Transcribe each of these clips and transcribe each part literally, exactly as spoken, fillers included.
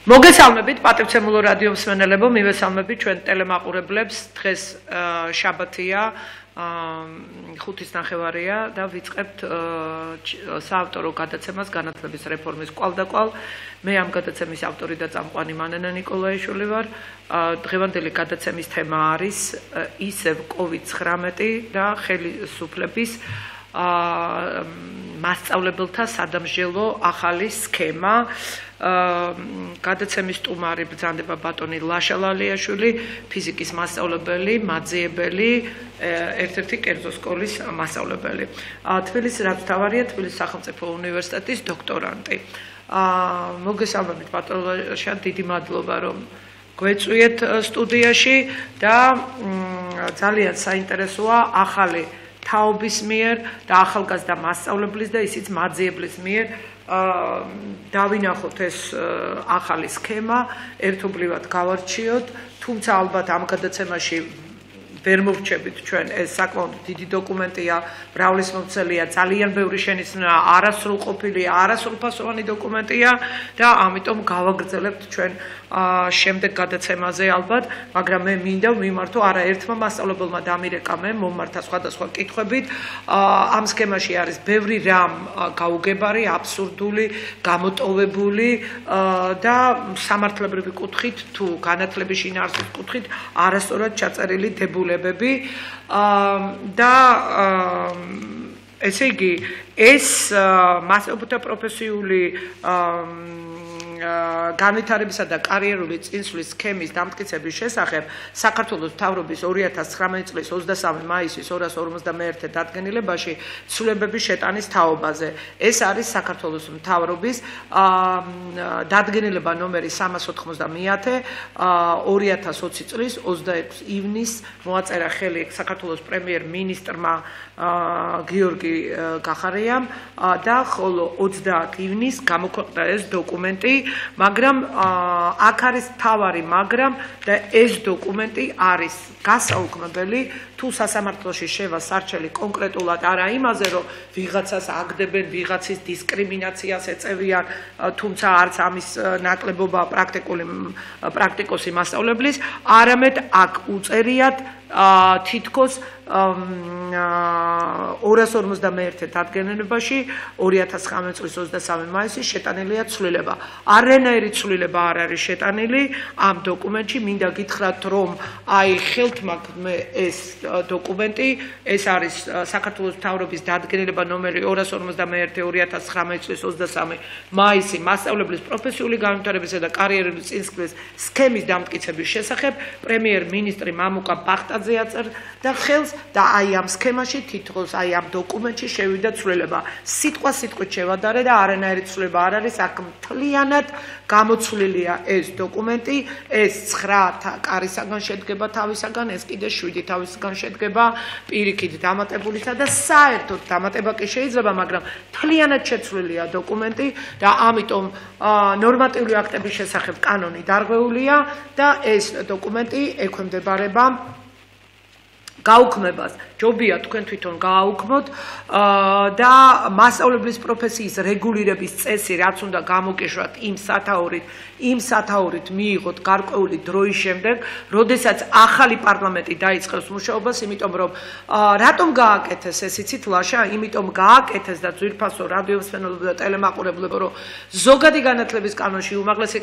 მოგესალმებით პატივცემულო რადიო მსმენელებო, მივესალმებით ჩვენ ტელემაყურებლებს. დღეს შაბათია, ხუთის ნახევარია და ვიწყებთ საავტორო გადაცემას განათლების რეფორმის კვალდაკვალ. მე ამ გადაცემის ავტორი და წამყვანი მანანა ნიკოლაიშვილი ვარ. დღევანდელი გადაცემის თემა არის ისევ კოვიდ ცხრამეტი და ხელისუფლების მასწავლებელთა სადამსჯელო ახალი სქემა. გადაცემის სტუმარი ბრძანდება ბატონი ლაშა ლალიაშვილი, ფიზიკის მასწავლებელი, მაძიებელი, ერთ-ერთი კერძო სკოლის მასწავლებელი. თბილისის რადმთავარია თბილისის სახელმწიფო უნივერსიტეტის დოქტორანტი. მოგესალმებით ბატონ ლაშა, დიდი მადლობა რომ გვეწვიეთ სტუდიაში და ძალიან საინტერესოა ახალი თაობის მიერ და ახალგაზრდა მასწავლებლის და ისიც მაძიებლის მიერ დავინახოთ ეს ახალი სქემა, ერთობლივად გავარჩიოთ, თუმცა ალბათ ამ გადაცემაში ვერ მოვრჩებით ჩვენ ეს საკმაოდ დიდი დოკუმენტია, მრავლისმომცველია, ძალიან ბევრი შენიშვნაა, არასრულყოფილი, არასრულფასოვანი დოკუმენტია და ამიტომ გავაგრძელებთ ჩვენ შემდეგ გადაცემაზე ალბათ, მაგრამ მე მინდა ვიმართო არაერთმა მასწავლებელმა დამირეკა მე მომართა სხვადასხვა კითხვებით. ამ სქემაში არის ბევრი რამ გაუგებარი, აბსურდული, გამოტოვებული და სამართლებრივი კუთხით თუ განათლების შინაარსის კუთხით არასწორად ჩაწერილი დებულებები და ესე იგი ეს მასწავლებელთა პროფესიული განვითარებისა და კარიერული წინსვლის სქემის დამტკიცების შესახებ საქართველოს მთავრობის ორი ათას ცხრამეტი წლის ოცდამესამე მაისის ორას ორმოცდამეერთე დადგენილებაში ცვლილებების შეტანის თაობაზე. ეს არის საქართველოს მთავრობის დადგენილება ნომერი სამას ოთხმოცდამეათე ორი ათას ოცი წლის ოცდაექვსი ივნისს მოაწერა ხელი საქართველოს პრემიერ-მინისტრმა გიორგი გახარიამ და ხოლო ოცდაათი ივნისს გამოქვეყნდა ეს დოკუმენტი. მაგრამ აქ არის თავარი, მაგრამ და ეს დოკუმენტი არის გასაუქმებელი თუ სასამართლოში შევა სარჩელი კონკრეტულად არა იმაზე, რომ ვიღაცას აგდებენ, ვიღაცის დისკრიმინაციას ეწევიან, თუმცა არც ამის ნაკლებობა პრაქტიკული პრაქტიკოსი მასწავლებლის, არამედ აქ უწერიათ თითქოს ორას ორმოცდამეერთე დადგენილებაში ორი ათას ცხრამეტი წლის ოცდამესამე მაისის შეტანილია ცვლილება. არანაირი ცვლილება არ არის შეტანილი ამ დოკუმენტში. მინდა გითხრათ, რომ აი ხელთმაგმე ეს დოკუმენტი, ეს არის საქართველოს მთავრობის დადგენილება ნომერი ორას ორმოცდამეერთე ორი ათას ცხრამეტი წლის ოცდამესამე მაისი მასწავლებლის პროფესიული განვითარებისა და კარიერული წინსვლის სქემის დამტკიცების შესახებ პრემიერ-მინისტრი მამუკა ბახტაძე აწერდა ხელს და აი ამ სქემაში თითქოს აი ამ დოკუმენტში შევიდა ცვლილება. სიტყვა სიტყვით შევადარე და არანაირი ცვლილება არ არის, აქ მთლიანად გამოცვლილია ეს დოკუმენტი, ეს ცხრა კარისაგან შედგება თავისაგან, ეს კიდე შვიდი თავისაგან შედგება პირიქით დამატებულისა და საერთოდ დამატება კი შეიძლება, მაგრამ მთლიანად შეცვლილია დოკუმენტი და ამიტომ ნორმატიული აქტების შესახებ კანონი დარღვეულია და ეს დოკუმენტი ექვემდებარება გაუქმებას. ჯობია თქვენ თვითონ გააუქმოთ და მასწავლებლის პროფესიის რეგულირების წესი, რაც უნდა გამოგეშვათ იმ სათაურით, იმ სათაურით მიიღოთ გარკვეული დროის შემდეგ, როდესაც ახალი პარლამენტი დაიწყებს მუშაობას, იმიტომ რომ რატომ გააკეთეს ეს იცით ლაშა, იმიტომ გააკეთეს და ძვირფასო რადიო მსმენელებო და ტელემაყურებლებო, რომ ზოგადი განათლების კანონში, უმაღლესი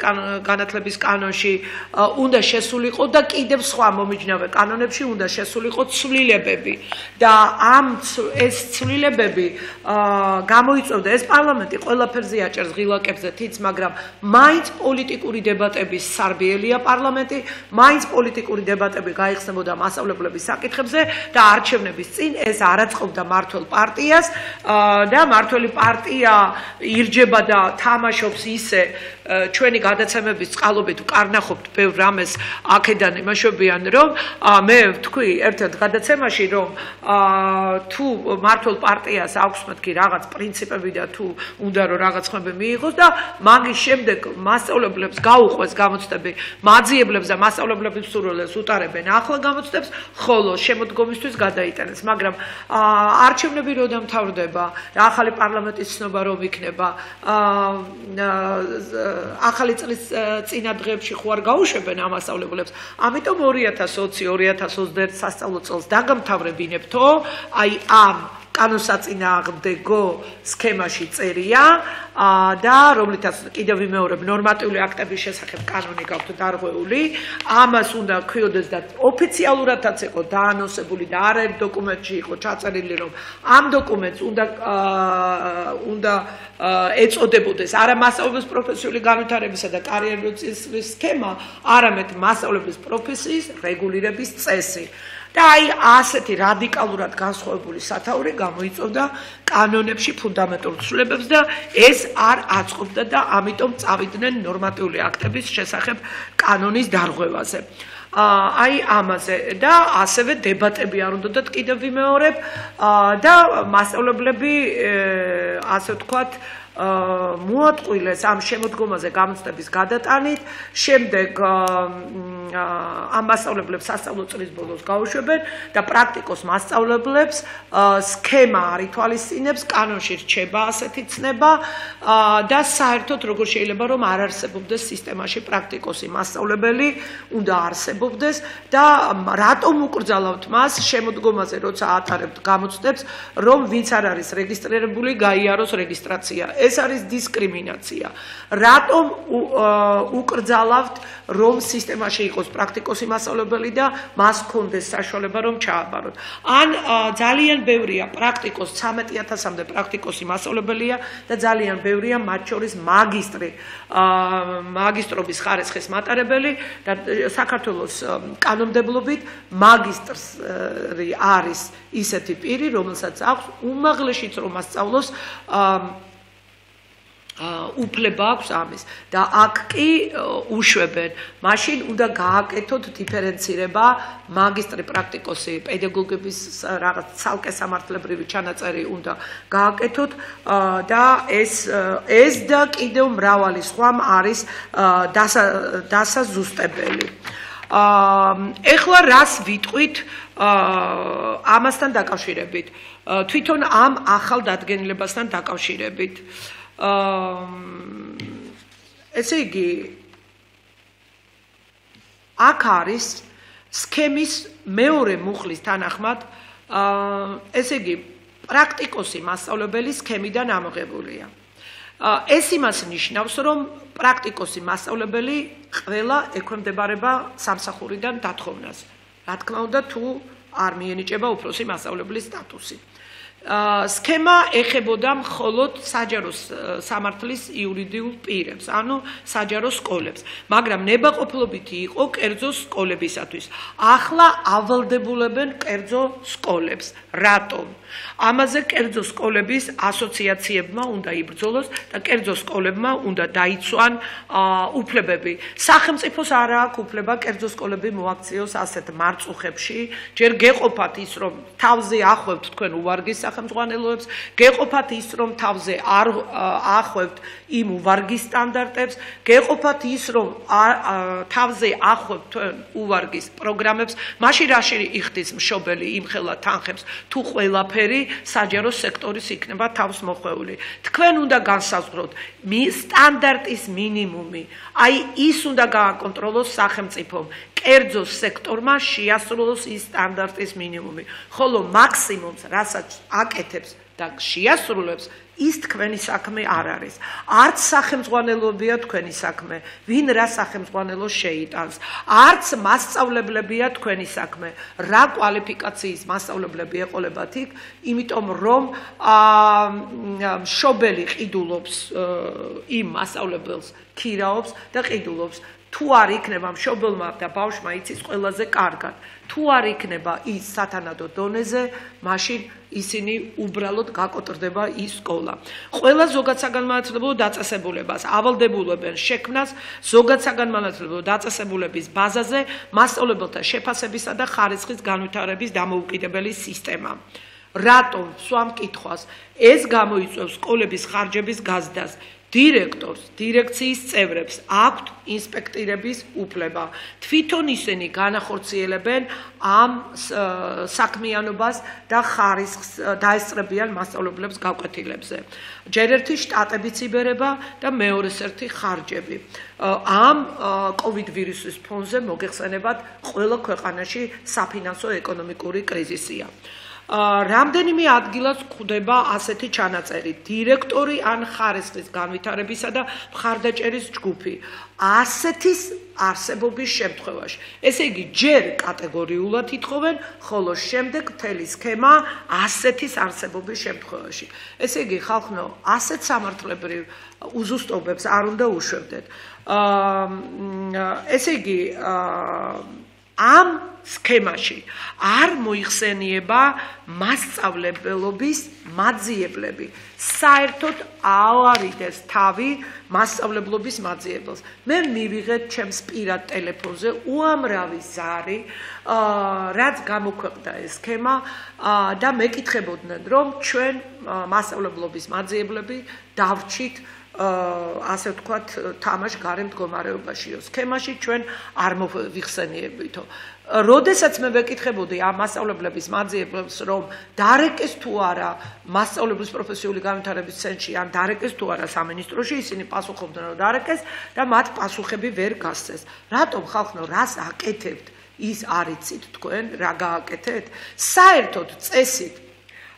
განათლების კანონში უნდა შესულიყო და კიდევ სხვა მომიჯნავე კანონებში უნდა შესულიყო ცვლილებები და ამ ეს ცვლილებები გამოიწვევდა ეს პარლამენტი ყველაფერზე აჭერს ღილაკებზე თიც, მაგრამ მაინც პოლიტიკური დებატების სარბიელია პარლამენტი, მაინც პოლიტიკური დებატები გაიხსნებოდა მასწავლებლების საკითხებზე და არჩევნების წინ ეს არ აწყობდა მართველ პარტიას და მართველი პარტია ირჯება და თამაშობს ისე ჩვენი გადაცემების წყალობით ვკარნახობთ ბევრ რამეს აქედან იმაშობიან, რომ მე ვთქვი ერთ-ერთ გადაცემაში, რომ თუ მართლ პარტიას აქვს მეთქი რაღაც პრინციპები და თუ უნდა რომ რაღაც ხმები მიიღოს და მაგის შემდეგ მასწავლებლებს გაუყვეს გამოცდები, მაძიებლებს და მასწავლებლების მსურველებს უტარებენ ახლა გამოცდებს, ხოლო შემოდგომისთვის გადაიტანეს, მაგრამ არჩევნები რო დამთავრდება, ახალი პარლამენტის ცნობა რომ იქნება, ახალი წლის წინა დღეებში ხო არ გაუშვებენ ამ მასწავლებლებს. ამიტომ ორი ათას ოცი ორი ათას ოცდაერთი სასწავლო წელს დაგამთავრებინებთო, აი ამ კანონსაწინააღმდეგო სქემაში წერია და რომლითაც კიდევ ვიმეორებ ნორმატიული აქტების შესახებ კანონი გაქვთ დარღვეული, ამას უნდა ქვიოდეს და ოფიციალურადაც იყო დაანონსებული და არა ერთ დოკუმენტში იყო ჩაწერილი, რომ ამ დოკუმენტს უნდა უნდა ეწოდებოდეს არა მასწავლებლის პროფესიული განვითარებისა და კარიერული წესის სქემა, არამედ მასწავლებლის პროფესიის რეგულირების წესი. და აი ასეთი რადიკალურად განსხვავებული სათაური გამოიწვევდა კანონებში ფუნდამენტურ ცვლილებებს და ეს არ აწყობდა და ამიტომ წავიდნენ ნორმატიული აქტების შესახებ კანონის დარღვევაზე. აი ამაზე და ასევე დებატები არ უნდათ კიდევ ვიმეორებ და მასწავლებლები ასე ვთქვათ მოატყვილეს ამ შემოდგომაზე გამოცდების გადატანით, შემდეგ ამ მასწავლებლებს სასწავლო წლის ბოლოს გაუშვებენ და პრაქტიკოს მასწავლებლებს სქემა არ ითვალისწინებს, კანონში რჩება ასეთი ცნება და საერთოდ როგორ შეიძლება რომ არ არსებობდეს სისტემაში პრაქტიკოსი მასწავლებელი, უნდა არსებობდეს და რატომ უკრძალავთ მას შემოდგომაზე, როცა ატარებთ გამოცდებს, რომ ვინც არ არის რეგისტრირებული, გაიაროს რეგისტრაცია. ეს არის დისკრიმინაცია. რატომ უკრძალავთ რომ სისტემაში იყოს პრაქტიკოსი მასწავლებელი და მას ჰქონდეს საშუალება რომ ჩააბაროთ. ან ძალიან ბევრია პრაქტიკოს ცამეტი ათასამდე პრაქტიკოსი მასწავლებელია და ძალიან ბევრია მათ შორის მაგისტრი, მაგისტრობის ხარისხის მატარებელი და საქართველოს კანონმდებლობით მაგისტრს არის ისეთი პირი, რომელსაც აქვს უმაღლეშიც რომ ასწავლოს უფლება აქვს ამის და აქ კი უშვებენ. მაშინ უნდა გააკეთოთ დიფერენცირება მაგისტრი პრაქტიკოსი პედაგოგების რაღაც ცალკე სამართლებრივი ჩანაწერი უნდა გააკეთოთ და ეს ეს და კიდევ მრავალი სხვამ არის დასაზუსტებელი. ეხლა რას ვიტყვით ამასთან დაკავშირებით, თვითონ ამ ახალ დადგენილებასთან დაკავშირებით. ესე იგი აქ არის სქემის მეორე მუხლის თანახმად, ესე იგი პრაქტიკოსი მასწავლებელი სქემიდან ამოღებულია. ეს იმას ნიშნავს, რომ პრაქტიკოსი მასწავლებელი ყველა ექვემდებარება სამსახურიდან დათხოვნას. რა თქმა უნდა, თუ არ მიენიჭება უფროსი მასწავლებლის სტატუსი. სქემა ეხებოდა მხოლოდ საჯარო სამართლის იურიდიულ პირებს, ანუ საჯარო სკოლებს, მაგრამ ნებაყოფლობითი იყო კერძო სკოლებისათვის. ახლა ავალდებულებენ კერძო სკოლებს. რატომ? ამაზე კერძო სკოლების ასოციაციებმა უნდა იბრძოლოს და კერძო სკოლებმა უნდა დაიცვან უფლებები. სახელმწიფოს არ აქვს უფლება კერძო სკოლები მოაქციოს ასეთ მარწუხებში. ჯერ გეყოფათ ის, რომ თავზე ახვევთ თქვენ უვარგის სახელმძღვანელოებს, გეყოფათ ის, რომ თავზე არ ახვევთ იმ უვარგის სტანდარტებს, გეყოფათ ის, რომ თავზე ახვევთ თქვენ უვარგის პროგრამებს, მაშინ რაში იხდის მშობელი იმხელა თანხებს, თუ ყველაფერი საჯარო სექტორის იქნება თავს მოხვეული. თქვენ უნდა განსაზღვროთ სტანდარტის მინიმუმი. აი ის უნდა გააკონტროლოს სახელმწიფომ. კერძო სექტორმა შეასრულოს ის სტანდარტის მინიმუმი. ხოლო მაქსიმუმს, რასაც აკეთებს და შეასრულებს, ის თქვენი საქმე არ არის. არც სახელმძღვანელოებია თქვენი საქმე, ვინ რა სახელმძღვანელოს შეიტანს. არც მასწავლებლებია თქვენი საქმე, რა კვალიფიკაციის მასწავლებლები ეყოლებათ იქ, იმიტომ რომ მშობელი ყიდულობს იმ მასწავლებელს, ქირაობს და ყიდულობს. თუ არ იქნება მშობელმა და ბავშვმა იცის ყველაზე კარგად. თუ არ იქნება ის სათანადო დონეზე, მაშინ ისინი უბრალოდ გაკოტრდება ის სკოლა. ყველა ზოგადსაგანმანათლებლო დაწესებულებას ავალდებულებენ შექმნას ზოგადსაგანმანათლებლო დაწესებულების ბაზაზე მასწავლებელთა შეფასებისა და ხარისხის განვითარების დამოუკიდებელი სისტემა. რატომ სვამ კითხვას ეს გამოიწვევს სკოლების ხარჯების გაზრდას? დირექტორს, დირექციის წევრებს აქვთ ინსპექტირების უფლება. თვითონ ისინი განახორციელებენ ამ საქმიანობას და ხარისხს დაესწრებიან მასწავლებლებს გაკვეთილებზე. ჯერ ერთი შტატებიც იბერება და მეორეს ერთი ხარჯები. ამ კოვიდ ვირუსის ფონზე მოგეხსენებათ ყველა ქვეყანაში საფინანსო ეკონომიკური კრიზისია. რამდენიმე ადგილას გვხვდება ასეთი ჩანაწერი: დირექტორი ან ხარისხის განვითარებისა და მხარდაჭერის ჯგუფი. ასეთის არსებობის შემთხვევაში. ესე იგი, ჯერ კატეგორიულად ითხოვენ, ხოლო შემდეგ მთელი სქემა ასეთის არსებობის შემთხვევაში. ესე იგი, ხალხო, ასეთ სამართლებრივ უზუსტობებს არ უნდა უშვებდეთ. ესე იგი, ამ სქემაში არ მოიხსენიება მასწავლებლობის მაძიებლები. საერთოდ ავარიდეს თავი მასწავლებლობის მაძიებელს. მე მივიღეთ ჩემს პირად ტელეფონზე უამრავი ზარი, რაც გამოქვეყნდა ეს სქემა და მეკითხებოდნენ, რომ ჩვენ მასწავლებლობის მაძიებლები დავრჩით ასე ვთქვათ, თამაშ გარე მდგომარეობაშიო. სქემაში ჩვენ არ მოვიხსენიებითო. როდესაც მე ვეკითხებოდი ამ მასწავლებლების მაძიებლებს, რომ დარეკეს თუ არა მასწავლებლის პროფესიული განვითარების ცენტრში, ან დარეკეს თუ არა სამინისტროში, ისინი პასუხობდნენ, რომ დარეკეს და მათ პასუხები ვერ გასცეს. რატომ ხალხო, რას აკეთებთ? ის არ იცით თქვენ, რა გააკეთეთ? საერთოდ წესით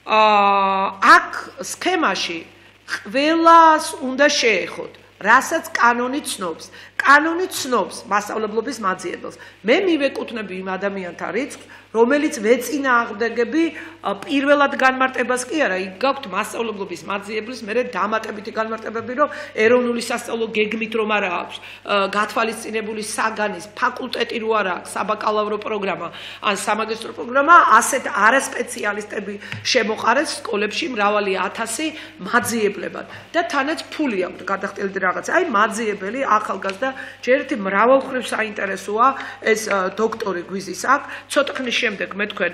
აქ სქემაში ყველას უნდა შეეხოთ, რასაც კანონი ცნობს. კანონი ცნობს მასწავლებლობის მაძიებელს. მე მივეკუთვნები იმ ადამიანთა რიცხვს, რომელიც ვეწინააღმდეგები პირველად განმარტებას კი არა, იქ გაქვთ მასწავლებლობის მაძიებლის, მერე დამატებითი განმარტებები, რომ ეროვნული სასწავლო გეგმით რომ არა აქვს, გათვალისწინებული საგანის ფაკულტეტი რო არა აქვს, საბაკალავრო პროგრამა ან სამაგისტრო პროგრამა, ასეთ არასპეციალისტები შემოყარეს სკოლებში მრავალი ათასი მაძიებლებად და თანაც ფული აქვს გადახდელდი რაღაცა. აი მაძიებელი ახალგაზრდა ჯერ ერთი მრავალმხრივ საინტერესოა ეს დოქტორი გვიზის აქ. ცოტა ხნის შემდეგ მე თქვენ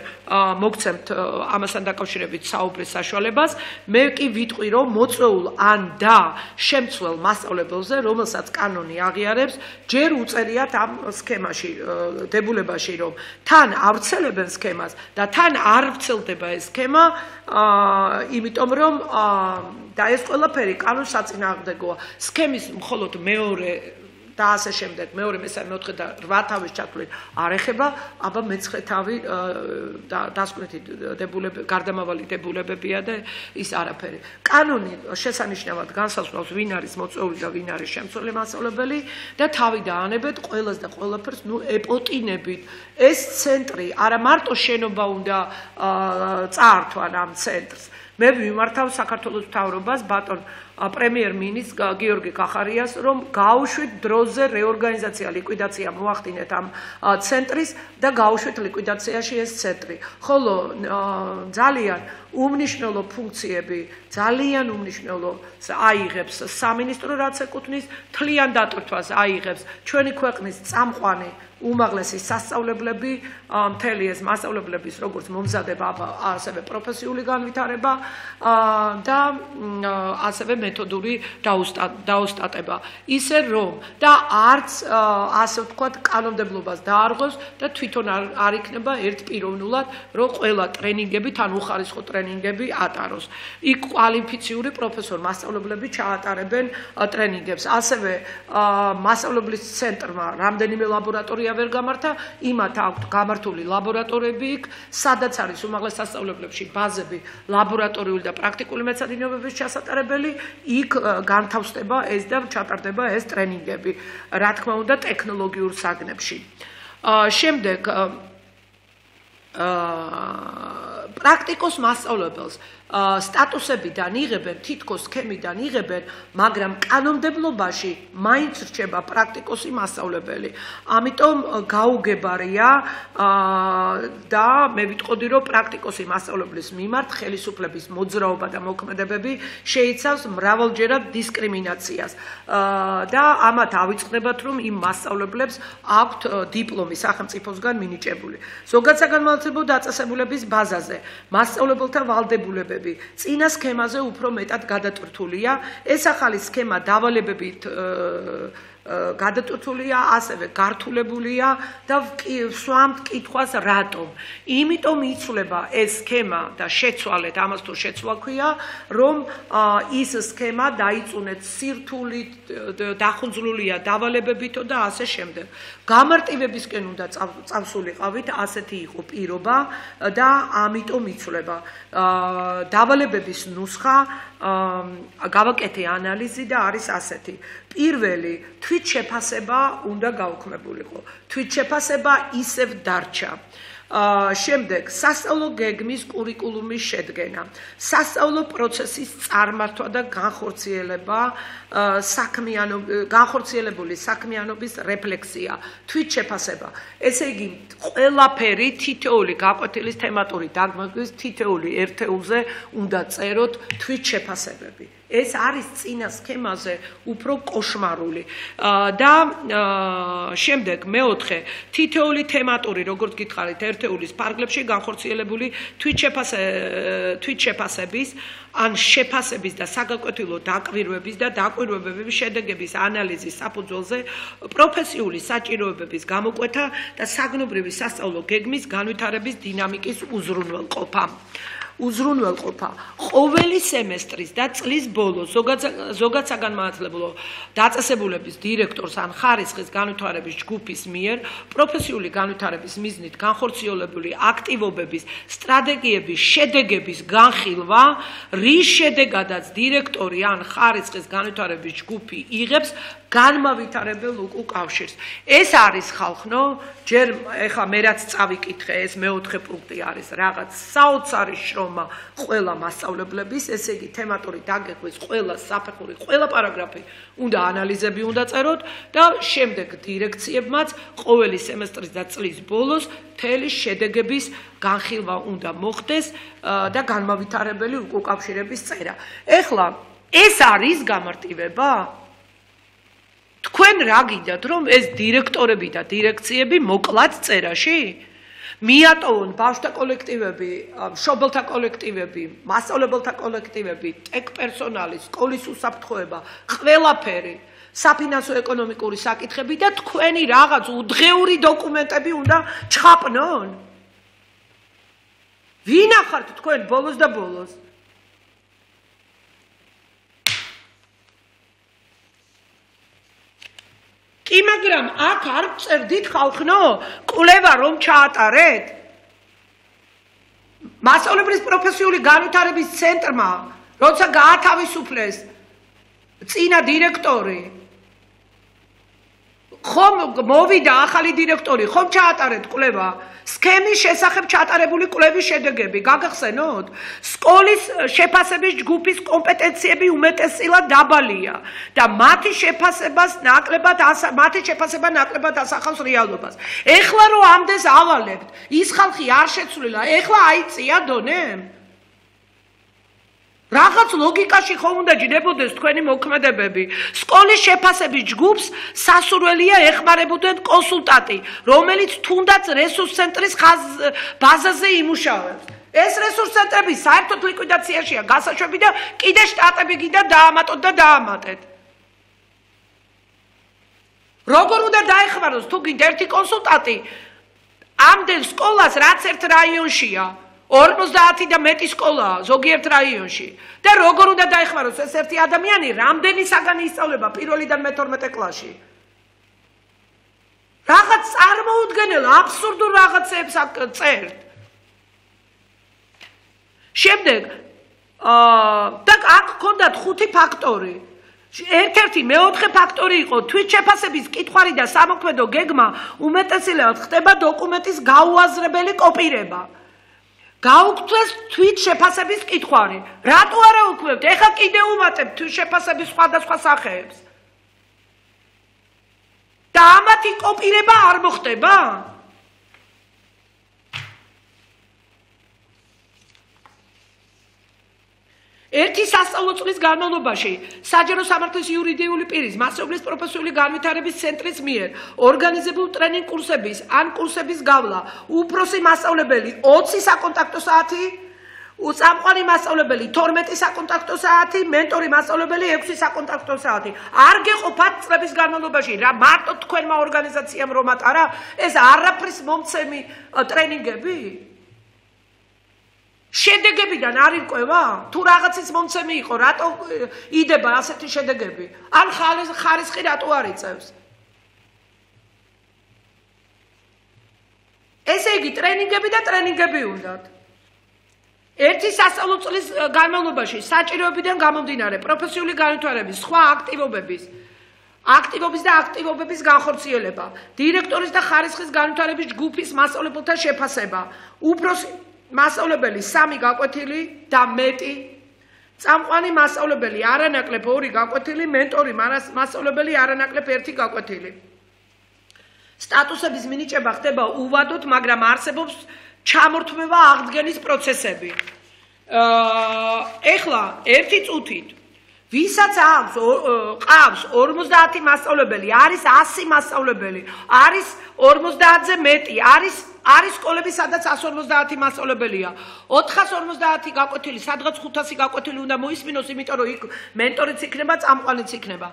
მოგცემთ ამასთან დაკავშირებით საუბრის საშუალებას. მე კი ვიტყვი, რომ მოწვეულ ან და შემცვლელ მასწავლებელზე, რომელსაც კანონი აღიარებს, ჯერ უწერიათ ამ სქემაში, დებულებაში, რომ თან ავრცელებენ სქემას და თან არ ვრცელდება ეს სქემა, იმიტომ რომ და ეს ყველაფერი კანონს საწინააღმდეგოა. სქემის მხოლოდ მეორე და ასე შემდეგ, მეორე, მესამე, მეოთხე და რვა თავის ჩათვლით არ ეხება, აბა მეცხრე თავი დასკვნითი დებულები, გარდამავალი დებულებებია და ის არაფერი. კანონი შესანიშნავად განსაზღვრავს, ვინ არის მოწვეული და ვინ არის შემცვლელი მასწავლებელი და თავი დაანებეთ ყველას და ყველაფერს, ნუ ეპოტინებით. ეს ცენტრი არა მარტო შენობა უნდა წაართვან ამ ცენტრს. მე ვიმართავ საქართველოს მთავრობას, ბატონ პრემიერ-მინისტრს გიორგი კახარიას, რომ გაუშვით დროზე რეორგანიზაცია, ლიკვიდაცია მოახდინეთ ამ ცენტრის და გაუშვით ლიკვიდაციაში ეს ცენტრი. ხოლო ძალიან უმნიშვნელო ფუნქციები, ძალიან უმნიშვნელო აიღებს სამინისტრო, რაც ეკუთვნის, თლიან დატვირთვას აიღებს ჩვენი ქვეყნის წამყვანი უმაღლესი სასწავლებლები, მთელი ეს მასწავლებლების როგორც მომზადება, ასევე პროფესიული განვითარება და ასევე მეთოდური დაოსტატება. ისე რომ და არც ასე ვთქვათ კანონმდებლობას დაარღვევს და თვითონ არ იქნება ერთპიროვნულად, რომ ყველა ტრენინგები, თან უხარისხო ტრენინგები ატაროს. იქ კვალიფიციური პროფესორ მასწავლებლები ჩაატარებენ ტრენინგებს. ასევე მასწავლებლის ცენტრმა რამდენიმე ლაბორატორია ვერ გამართა, იმათ აქვთ გამართული ლაბორატორიები იქ, სადაც არის უმაღლეს სასწავლებლებში ბაზები ლაბორატორიული და პრაქტიკული მეცადინეობების ჩასატარებელი, იქ განთავსდება ეს და ჩატარდება ეს ტრენინგები, რა თქმა უნდა, ტექნოლოგიურ საგნებში. შემდეგ პრაქტიკოს მასწავლებელს სტატუსებიდან იღებენ, თითქოს სქემიდან იღებენ, მაგრამ კანონმდებლობაში მაინც რჩება პრაქტიკოსი მასწავლებელი. ამიტომ გაუგებარია და მე ვიტყოდი, რომ პრაქტიკოსი მასწავლებლის მიმართ ხელისუფლების მოძრაობა და მოქმედებები შეიცავს მრავალჯერად დისკრიმინაციას და ამათ ავიწყდებათ, რომ იმ მასწავლებლებს აქვთ დიპლომი სახელმწიფოსგან მინიჭებული. ზოგად საგანმანათლებლო დაწესებულების ბაზაზე მასწავლებელთა ვალდებულებები წინა სქემაზე უფრო მეტად გადატვირთულია. ეს ახალი სქემა დავალებებით გადატვირთულია, ასევე გართულებულია და ვსვამთ კითხვას რატომ. იმიტომ იცვლება ეს სქემა და შეცვალეთ, ამას თუ შეცვლა ქვია, რომ ის სქემა დაიწუნეთ სირთულით, დახუნძლულია დავალებებითო და ასე შემდეგ. გამარტივებისკენ უნდა წავსულიყავით, ასეთი იყო პირობა და ამიტომ იცვლება. დავალებების ნუსხა გავაკეთე ანალიზი და არის ასეთი. პირველი თვითშეფასება უნდა გაუქმებულიყო. თვითშეფასება ისევ დარჩა. შემდეგ სასწავლო გეგმის კურიკულუმის შედგენა, სასწავლო პროცესის წარმართვა და განხორციელება, განხორციელებული საქმიანობის რეფლექსია, თვითშეფასება. ესე იგი, ყველაფერი თითოეული გაკვეთილის თემატური დაგმობის თითოეული ერთეულზე უნდა წეროთ თვითშეფასებები. ეს არის წინა სქემაზე უფრო კოშმარული და შემდეგ მეოთხე თითოეული თემატური, როგორც გითხარით, ერთეულის ფარგლებში განხორციელებული თვითშეფასების ან შეფასების და საგაკვეთილო დაკვირვების და დაკვირვებების შედეგების ანალიზის საფუძველზე პროფესიული საჭიროებების გამოკვეთა და საგნობრივი სასწავლო გეგმის განვითარების დინამიკის უზრუნველყოფა. უზრუნველყოფა ყოველი სემესტრის და წლის ბოლოს ზოგად საგანმანათლებლო დაწესებულების დირექტორს ან ხარისხის განვითარების ჯგუფის მიერ პროფესიული განვითარების მიზნით განხორციელებული აქტივობების სტრატეგიების შედეგების განხილვა, რის შედეგადაც დირექტორი ან ხარისხის განვითარების ჯგუფი იღებს განმავითარებელ უკავშირს. ეს არის ხალხნო, ჯერ ეხა მე რაც წავიკითხე, ეს მეოთხე პუნქტი არის რაღაც საოცარი შრომა ყველა მასწავლებლების, ესე იგი თემატური დაგეგმვის ყველა საფეხური, ყველა პარაგრაფი უნდა ანალიზები უნდა წეროთ და შემდეგ დირექციებმაც ყოველი სემესტრის და წლის ბოლოს მთელი შედეგების განხილვა უნდა მოხდეს და განმავითარებელი უკავშირების წერა. ეხლა ეს არის გამარტივება? თქვენ რა გინდათ, რომ ეს დირექტორები და დირექციები მოკლათ წერაში? მიატოვონ ბავშვთა კოლექტივები, მშობელთა კოლექტივები, მასწავლებელთა კოლექტივები, ტექ პერსონალი, სკოლის უსაფრთხოება, ყველაფერი, საფინანსო ეკონომიკური საკითხები და თქვენი რაღაც უდღეური დოკუმენტები უნდა ჩხაპნონ? ვინ ახართ თქვენ ბოლოს და ბოლოს? კი, მაგრამ აქ არ წერდით ხალხნო, კვლევა რომ ჩაატარეთ? მასწავლებლის პროფესიული განვითარების ცენტრმა, როცა გაათავისუფლეს წინა დირექტორი, ხომ მოვიდა ახალი დირექტორი, ხომ ჩაატარეთ კვლევა? სქემის შესახებ ჩატარებული კვლევის შედეგები გაგახსენოთ? სკოლის შეფასების ჯგუფის კომპეტენციები უმეტესწილად დაბალია და მათი შეფასებას ნაკლებად მათი შეფასება ნაკლებად ასახავს რეალობას. ეხლა რომ ამდენს ავალებთ, ის ხალხი არ შეცვლილა, ეხლა აიწია დონე? რაღაც ლოგიკაში ხომ უნდა ჯდებოდეს თქვენი მოქმედებები. სკოლის შეფასების ჯგუფს სასურველია ეხმარებოდნენ კონსულტანტი, რომელიც თუნდაც რესურს ცენტრის ბაზაზე იმუშავებს. ეს რესურს ცენტრები საერთოდ ლიკვიდაციაშია გასაშვები და კიდე შტატები გინდა დაამატოთ და დაამატეთ. როგორ უნდა დაეხმაროს თუ გინდა ერთი კონსულტანტი ამდენ სკოლას, რაც ერთ რაიონშია? ორმოცდაათი და მეტი სკოლაა ზოგიერთ რაიონში და როგორ უნდა დაეხმაროს ეს ერთი ადამიანი, რამდენი საგანი ისწავლება პირველიდან მეთორმეტე კლასში? რაღაც წარმოუდგენელ აბსურდულ რაღაცებს წერთ. შემდეგ და აქ გქონდათ ხუთი ფაქტორი. ერთ-ერთი მეოთხე ფაქტორი იყო თვითშეფასების კითხვარი და სამოქმედო გეგმა უმეტესწილად ხდება დოკუმენტის გაუაზრებელი კოპირება. გაუქმდეს თვით შეფასების კითხვარი. რატო არა უქმებთ? ეხლა კიდე უმატებთ თვით შეფასების სხვადასხვა სახეებს. და ამათი კოპირება არ მოხდება? ერთი სასწავლო წლის განმავლობაში საჯარო სამართლის იურიდიული პირის მასწავლებლის პროფესიული განვითარების ცენტრის მიერ ორგანიზებულ ტრენინგ კურსების ან კურსების გავლა უფროსი მასწავლებელი ოცი საკონტაქტო საათი, წამყვანი მასწავლებელი თორმეტი საკონტაქტო საათი, მენტორი მასწავლებელი ექვსი საკონტაქტო საათი. არ გეყოფათ წლების განმავლობაში რა მარტო თქვენმა ორგანიზაციამ რომათ არა ეს არაფრის მომცემი ტრენინგები? შედეგებიდან არ ირკვევა? თუ რაღაცის მომცემი იყო, რატო იდება ასეთი შედეგები? ან ხარისხი რატო არ იწევს? ესე იგი, ტრენინგები და ტრენინგები უნდათ. ერთი სასწავლო წლის განმავლობაში საჭიროებიდან გამომდინარე პროფესიული განვითარების სხვა აქტივობების აქტივობის და აქტივობების განხორციელება, დირექტორის და ხარისხის განვითარების ჯგუფის მასწავლებელთა შეფასება, უფროსი მასწავლებელი სამი გაკვეთილი და მეტი, წამყვანი მასწავლებელი არანაკლებ ორი გაკვეთილი, მენტორი მასწავლებელი არანაკლებ ერთი გაკვეთილი. სტატუსების მინიჭება ხდება უვადოდ, მაგრამ არსებობს ჩამორთმევა აღდგენის პროცესები. ეხლა ერთი წუთით ვისაც აქვს ყავს ორმოცდაათი მასწავლებელი, არის ასი მასწავლებელი, არის ორმოცდაათზე მეტი, არის არის სკოლები, სადაც ასი ორმოცდაათი მასწავლებელია. ოთხას ორმოცდაათი გაკვეთილი, სადღაც ხუთასი გაკვეთილი უნდა მოისმინოს, იმიტომ რომ იქ მენტორიც იქნება, წამყვანიც იქნება.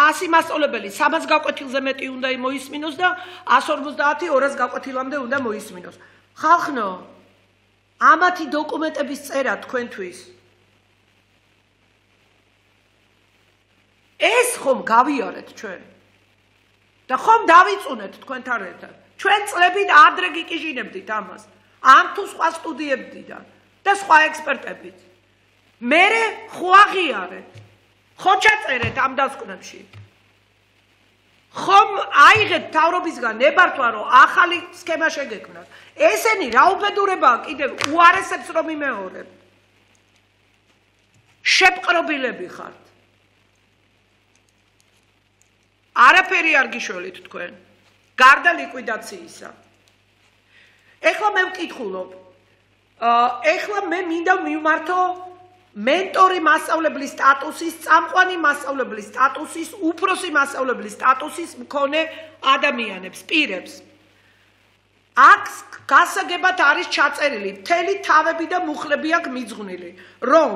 ასი მასწავლებელი სამას გაკვეთილზე მეტი უნდა მოისმინოს და ასი ორმოცდაათი ორას გაკვეთილამდე უნდა მოისმინოს. ხალხნო, ამათი დოკუმენტების წერა თქვენთვის ეს ხომ გავიარეთ ჩვენ და ხომ დავიწუნეთ თქვენთან ერთად. ჩვენ წლებით ადრე გიკიჟინებდით ამას, ამ თუ სხვა სტუდიებიდან და სხვა ექსპერტებით. მერე ხო აღიარეთ, ხო ჩაწერეთ ამ დასკვნებში. ხომ აიღეთ თავრობისგან ნებართვა, რომ ახალი სქემა შეგექმნათ. ესენი რა უბედურებაა კიდევ უარესებს რომ იმეორებთ. შეპყრობილები ხართ. არაფერი არ გიშველით თქვენ, გარდა ლიკვიდაციისა. ეხლა მე ვკითხულობ, ეხლა მე მინდა მივმართო მენტორი მასწავლებლის სტატუსის, წამყვანი მასწავლებლის სტატუსის, უფროსი მასწავლებლის სტატუსის მქონე ადამიანებს, პირებს. აქ გასაგებად არის ჩაწერილი, მთელი თავები და მუხლები აქვს მიძღვნილი, რომ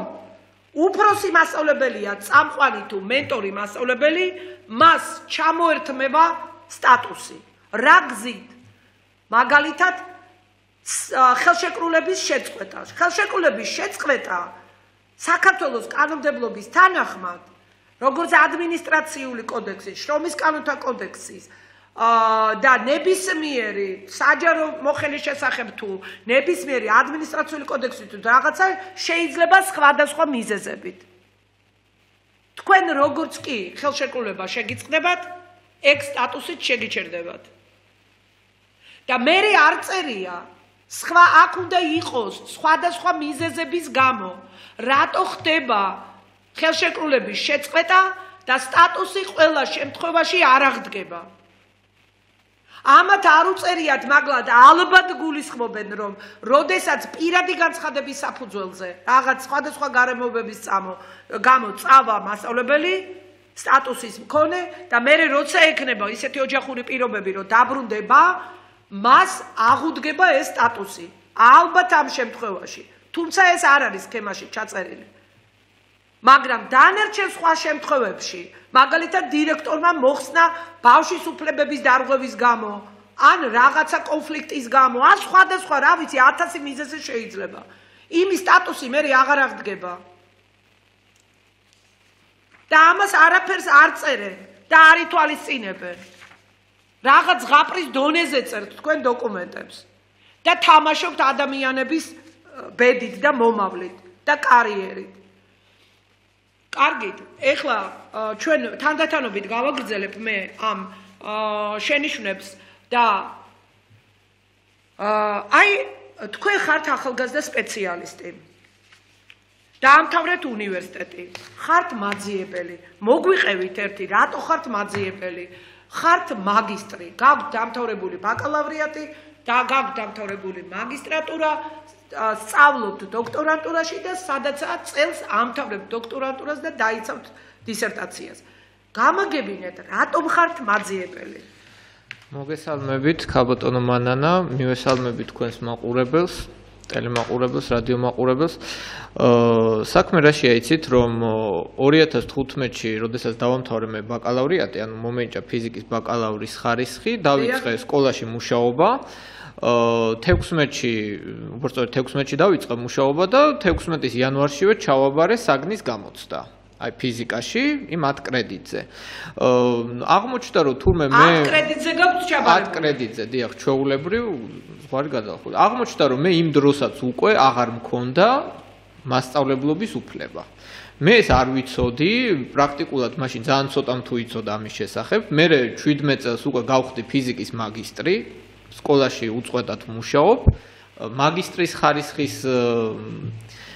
უფროსი მასწავლებელია, წამყვანი თუ მენტორი მასწავლებელი, მას ჩამოერთმევა სტატუსი. რა გზით? მაგალითად, ხელშეკრულების შეწყვეტა. ხელშეკრულების შეწყვეტა საქართველოს კანონმდებლობის თანახმად, როგორც ადმინისტრაციული კოდექსის, შრომის კანონთა კოდექსის და ნებისმიერი საჯარო მოხელის შესახებ თუ ნებისმიერი ადმინისტრაციული კოდექსით თუ რაღაცა შეიძლება სხვადასხვა მიზეზებით. თქვენ როგორც კი ხელშეკრულება შეგიწყდებათ, ეგ სტატუსით შეგიჩერდებათ. და მე არ წერია, სხვა აქ უნდა იყოს სხვადასხვა მიზეზების გამო, რატო ხდება ხელშეკრულების შეწყვეტა და სტატუსი ყველა შემთხვევაში არ აღდგება. ამათ არ უწერიათ, მაგრამ ალბათ გულისხმობენ, რომ როდესაც პირადი განცხადების საფუძველზე რაღაც სხვადასხვა გარემოებების გამო წავა მასწავლებელი სტატუსის მქონე და მე როცა ექნება ისეთი ოჯახური პირობები, რომ დაბრუნდება, მას აღუდგება ეს სტატუსი. ალბათ ამ შემთხვევაში. თუმცა ეს არ არის სქემაში ჩაწერილი. მაგრამ დანარჩენ სხვა შემთხვევებში, მაგალითად დირექტორმა მოხსნა ბავშვის უფლებების დარღვევის გამო, ან რაღაცა კონფლიქტის გამო, ან სხვადასხვა, რა ვიცი, ათასი მიზეზი შეიძლება. იმის სტატუსი მე აღარ აღდგება. და ამას არაფერს არ წერენ და არ ითვალისწინებენ. რაღაც ზღაპრის დონეზე წერთ თქვენ დოკუმენტებს და თამაშობთ ადამიანების ბედით და მომავლით და კარიერით. კარგით, ეხლა ჩვენ თანდათანობით გავაგრძელებ მე ამ შენიშვნებს და აი თქვენ ხართ ახალგაზრდა სპეციალისტი. დაამთავრეთ უნივერსიტეტი. ხართ მაძიებელი. მოგვიყევით ერთი, რატო ხართ მაძიებელი? ხართ მაგისტრი, გაქვთ დამთავრებული ბაკალავრიატი და გაქვთ დამთავრებული მაგისტრატურა, სწავლობთ დოქტორანტურაში და სადაცაა წელს ამთავრებთ დოქტორანტურას და დაიცავთ დისერტაციას. გამაგებინეთ, რატომ ხართ მაძიებელი? მოგესალმებით, ქალბატონო მანანა, მივესალმებით თქვენს მაყურებელს, ტელემაყურებელს, რადიომაყურებელს. საქმე რაშია იცით, რომ ორი ათას თხუთმეტში, როდესაც დავამთავრე მე ბაკალავრიატი, ანუ მომენჭა ფიზიკის ბაკალავრის ხარისხი, დავიწყე სკოლაში მუშაობა. თექვსმეტში, უბრალოდ თექვსმეტში დავიწყე მუშაობა და თექვსმეტის იანვარშივე ჩავაბარე საგნის გამოცდა. აი ფიზიკაში, იმ ათ კრედიტზე. აღმოჩნდა რომ თურმე მე ათ კრედიტზე გაქვს ჩაბარებული. ათ კრედიტზე, დიახ, ჩვეულებრივ ზღვარი გადალახული. აღმოჩნდა რომ მე იმ დროსაც უკვე აღარ მქონდა მასწავლებლობის უფლება. მე ეს არ ვიცოდი, პრაქტიკულად მაშინ ძალიან ცოტამ თუ იცოდა ამის შესახებ. მე შვიდმეტ წელს უკვე გავხდი ფიზიკის მაგისტრი, სკოლაში უწყვეტად მუშაობ. მაგისტრის ხარისხის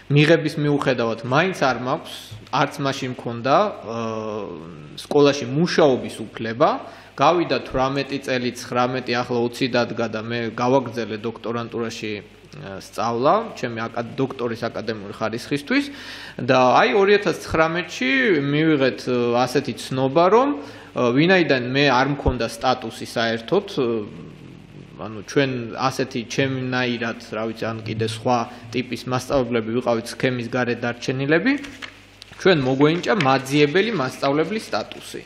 მიღების მიუხედავად მაინც არ მაქვს, არც მაშინ მქონდა სკოლაში მუშაობის უფლება. გავიდა თვრამეტი წელი, ცხრამეტი, ახლა ოცი დადგა და მე გავაგრძელე დოქტორანტურაში სწავლა, ჩემი დოქტორის აკადემიური ხარისხისთვის და აი ორი ათას ცხრამეტში მივიღეთ ასეთი ცნობა, რომ ვინაიდან მე არ მქონდა სტატუსი საერთოდ, ანუ ჩვენ ასეთი ჩემნაირად, რა ვიცი, ან კიდე სხვა ტიპის მასწავლებლები ვიყავით სქემის გარეთ დარჩენილები, ჩვენ მოგვენიჭა მაძიებელი მასწავლებლის სტატუსი.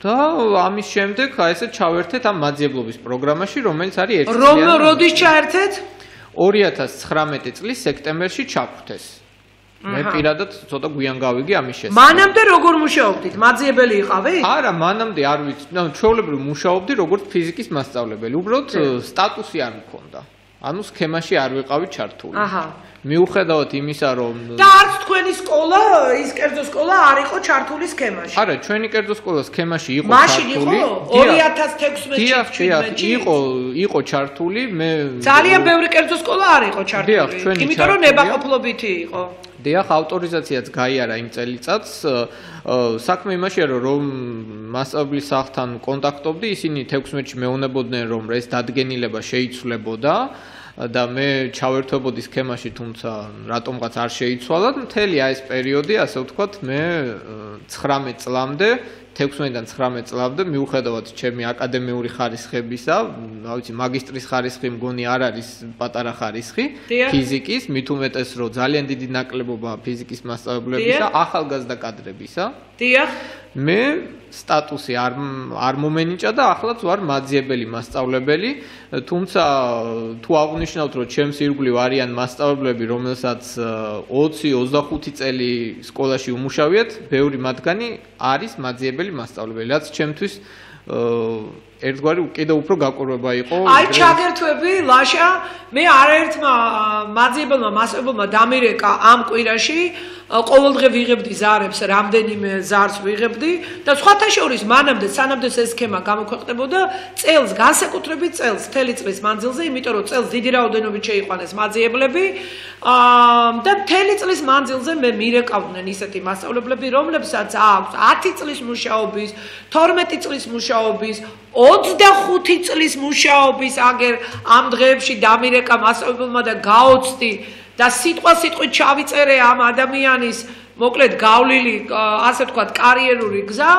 და ამის შემდეგ აი ესე ჩავერთეთ ამ მაძიებლობის პროგრამაში, რომელიც არის ერთი წელი. რომ როდის ჩაერთეთ? ორი ათას ცხრამეტი წლის სექტემბერში ჩაგვთეს. მე პირადად ცოტა გვიან გავიგე ამის შესახებ. მანამდე როგორ მუშაობდით? მაძიებელი იყავით? არა, მანამდე არ ვიცი. ნუ ჩვეულებრივ მუშაობდი როგორც ფიზიკის მასწავლებელი. უბრალოდ სტატუსი არ მქონდა. ანუ სქემაში არ ვიყავი ჩართული. აჰა. მიუხედავად იმისა, რომ და არც თქვენი სკოლა, ის კერძო სკოლა არ იყო ჩართული სქემაში. არა, ჩვენი კერძო სკოლა სქემაში იყო ჩართული. მაშინ ჩართული. იყო ორი ათას თექვსმეტში. იყო, იყო ჩართული. მე ძალიან ბევრი კერძო სკოლა არ იყო ჩართული. დიახ, ჩვენი იმიტომ რომ ნებაყოფლობითი იყო. დიახ, ავტორიზაციაც გაიარა იმ წელიწადს. საქმე იმაშია, რომ მასწავლებლის სახლთან კონტაქტობდი, ისინი თექვსმეტში მეუნებოდნენ, რომ ეს დადგენილება შეიცვლებოდა. და მე ჩავერთვებოდი სქემაში, თუმცა რატომღაც არ შეიცვალა. მთელი აი ეს პერიოდი, ასე ვთქვათ, მე ცხრამეტ წლამდე, თექვსმეტიდან ცხრამეტ წლამდე, მიუხედავად ჩემი აკადემიური ხარისხებისა, რა ვიცი, მაგისტრის ხარისხი მგონი არ არის პატარა ხარისხი ფიზიკის, მით უმეტეს რომ ძალიან დიდი ნაკლებობა ფიზიკის მასწავლებლებისა, ახალგაზრდა კადრებისა. დიახ. მე სტატუსი არ არ მომენიჭა და ახლაც ვარ მაძიებელი მასწავლებელი, თუმცა თუ აღნიშნავთ, რომ ჩემს ირგვლივ არიან მასწავლებლები, რომელსაც ოცი ოცდახუთი წელი სკოლაში უმუშავიათ, ბევრი მათგანი არის მაძიებელი მასწავლებელი, რაც ჩემთვის ერთგვარი კიდევ უფრო გაკვირვება იყო. აი ჩაგერთვები, ლაშა, მე არაერთმა მაძიებელმა მასწავლებელმა დამირეკა ამ კვირაში, ყოველდღე ვიღებდი ზარებს, რამდენიმე ზარს ვიღებდი და სხვათა შორის მანამდე სანამდე ეს სქემა გამოქვეყნებოდა წელს, განსაკუთრებით წელს, მთელი წლის მანძილზე, იმიტომ რომ წელს დიდი რაოდენობით შეიყვანეს მაძიებლები და მთელი წლის მანძილზე მე მირეკავდნენ ისეთი მასწავლებლები, რომლებსაც აქვს ათი წლის მუშაობის, თორმეტი წლის მუშაობის, ოცდახუთი წლის მუშაობის, აგერ ამ დღეებში დამირეკა მასწავლებელმა და გაოცდი და სიტყვა სიტყვით ჩავიწერე ამ ადამიანის, მოკლედ გავლილი, ასე ვთქვათ, კარიერული გზა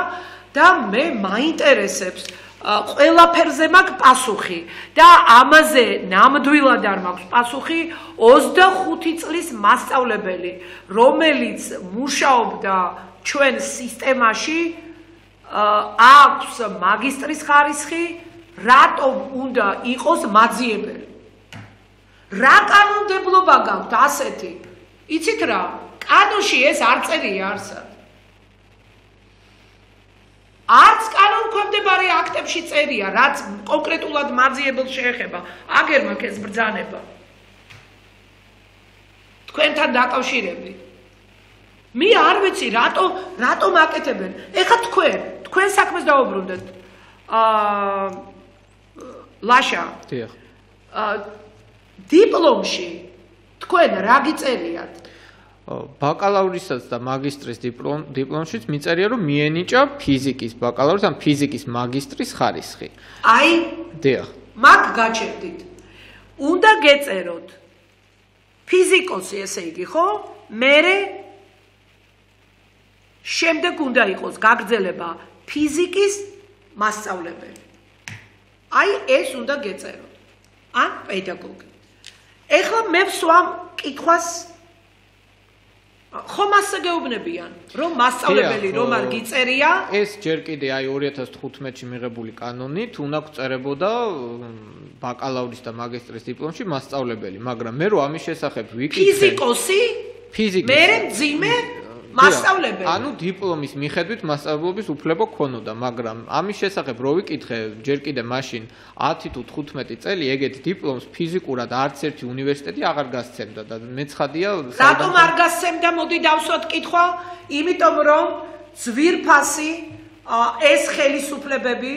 და მე მაინტერესებს ყველაფერზე მაქვს პასუხი და ამაზე ნამდვილად არ მაქვს პასუხი ოცდახუთი წლის მასწავლებელი, რომელიც მუშაობდა ჩვენ სისტემაში, აქვს მაგისტრის ხარისხი, რატომ უნდა იყოს მაძიებელი? რა კანონმდებლობა გაქვთ ასეთი? იცით რა? კანონში ეს არ წერია არსად. არც კანონქვემდებარე აქტებში წერია, რაც კონკრეტულად მაძიებელს შეეხება. აგერ მაქვს ეს ბრძანება. თქვენთან დაკავშირებით. მე არ ვიცი, რატო, რატომ აკეთებენ. ეხლა თქვენ, თქვენ საქმეს დაუბრუნდეთ. აა ლაშა. დიახ. დიპლომში თქვენ რა გიწერიათ? ბაკალავრისაც და მაგისტრის დიპლომშიც მიწერია, რომ მიენიჭა ფიზიკის ბაკალავრის ან ფიზიკის მაგისტრის ხარისხი. აი, დიახ. მაგ გაჩერდით. უნდა გეწეროთ ფიზიკოსი, ესე იგი, ხო? მერე შემდეგ უნდა იყოს გაგრძელება ფიზიკის მასწავლებელი. აი, ეს უნდა გეწეროთ. ან პედაგოგი. ეხლა მე ვსვამ კითხვას ხომ ასე გეუბნებიან, რომ მასწავლებელი რომ არ გიწერია? ეს ჯერ კიდე აი ორი ათას თხუთმეტში მიღებული კანონით უნდა გწერებოდა ბაკალავრის და მაგისტრის დიპლომში მასწავლებელი, მაგრამ მე რო ამის შესახებ ვიკითხე ფიზიკოსი? ფიზიკის. მერე მძიმე მასწავლებელი. ანუ დიპლომის მიხედვით მასწავლებლობის უფლება ქონოდა, მაგრამ ამის შესახებ რო ვიკითხე ჯერ კიდე მაშინ ათი თუ თხუთმეტი წელი ეგეთ დიპლომს ფიზიკურად არც ერთი უნივერსიტეტი აღარ გასცემდა და მეცხადია რატომ არ გასცემდა? მოდი დავსვათ კითხვა, იმიტომ რომ ძვირფასი ეს ხელისუფლებები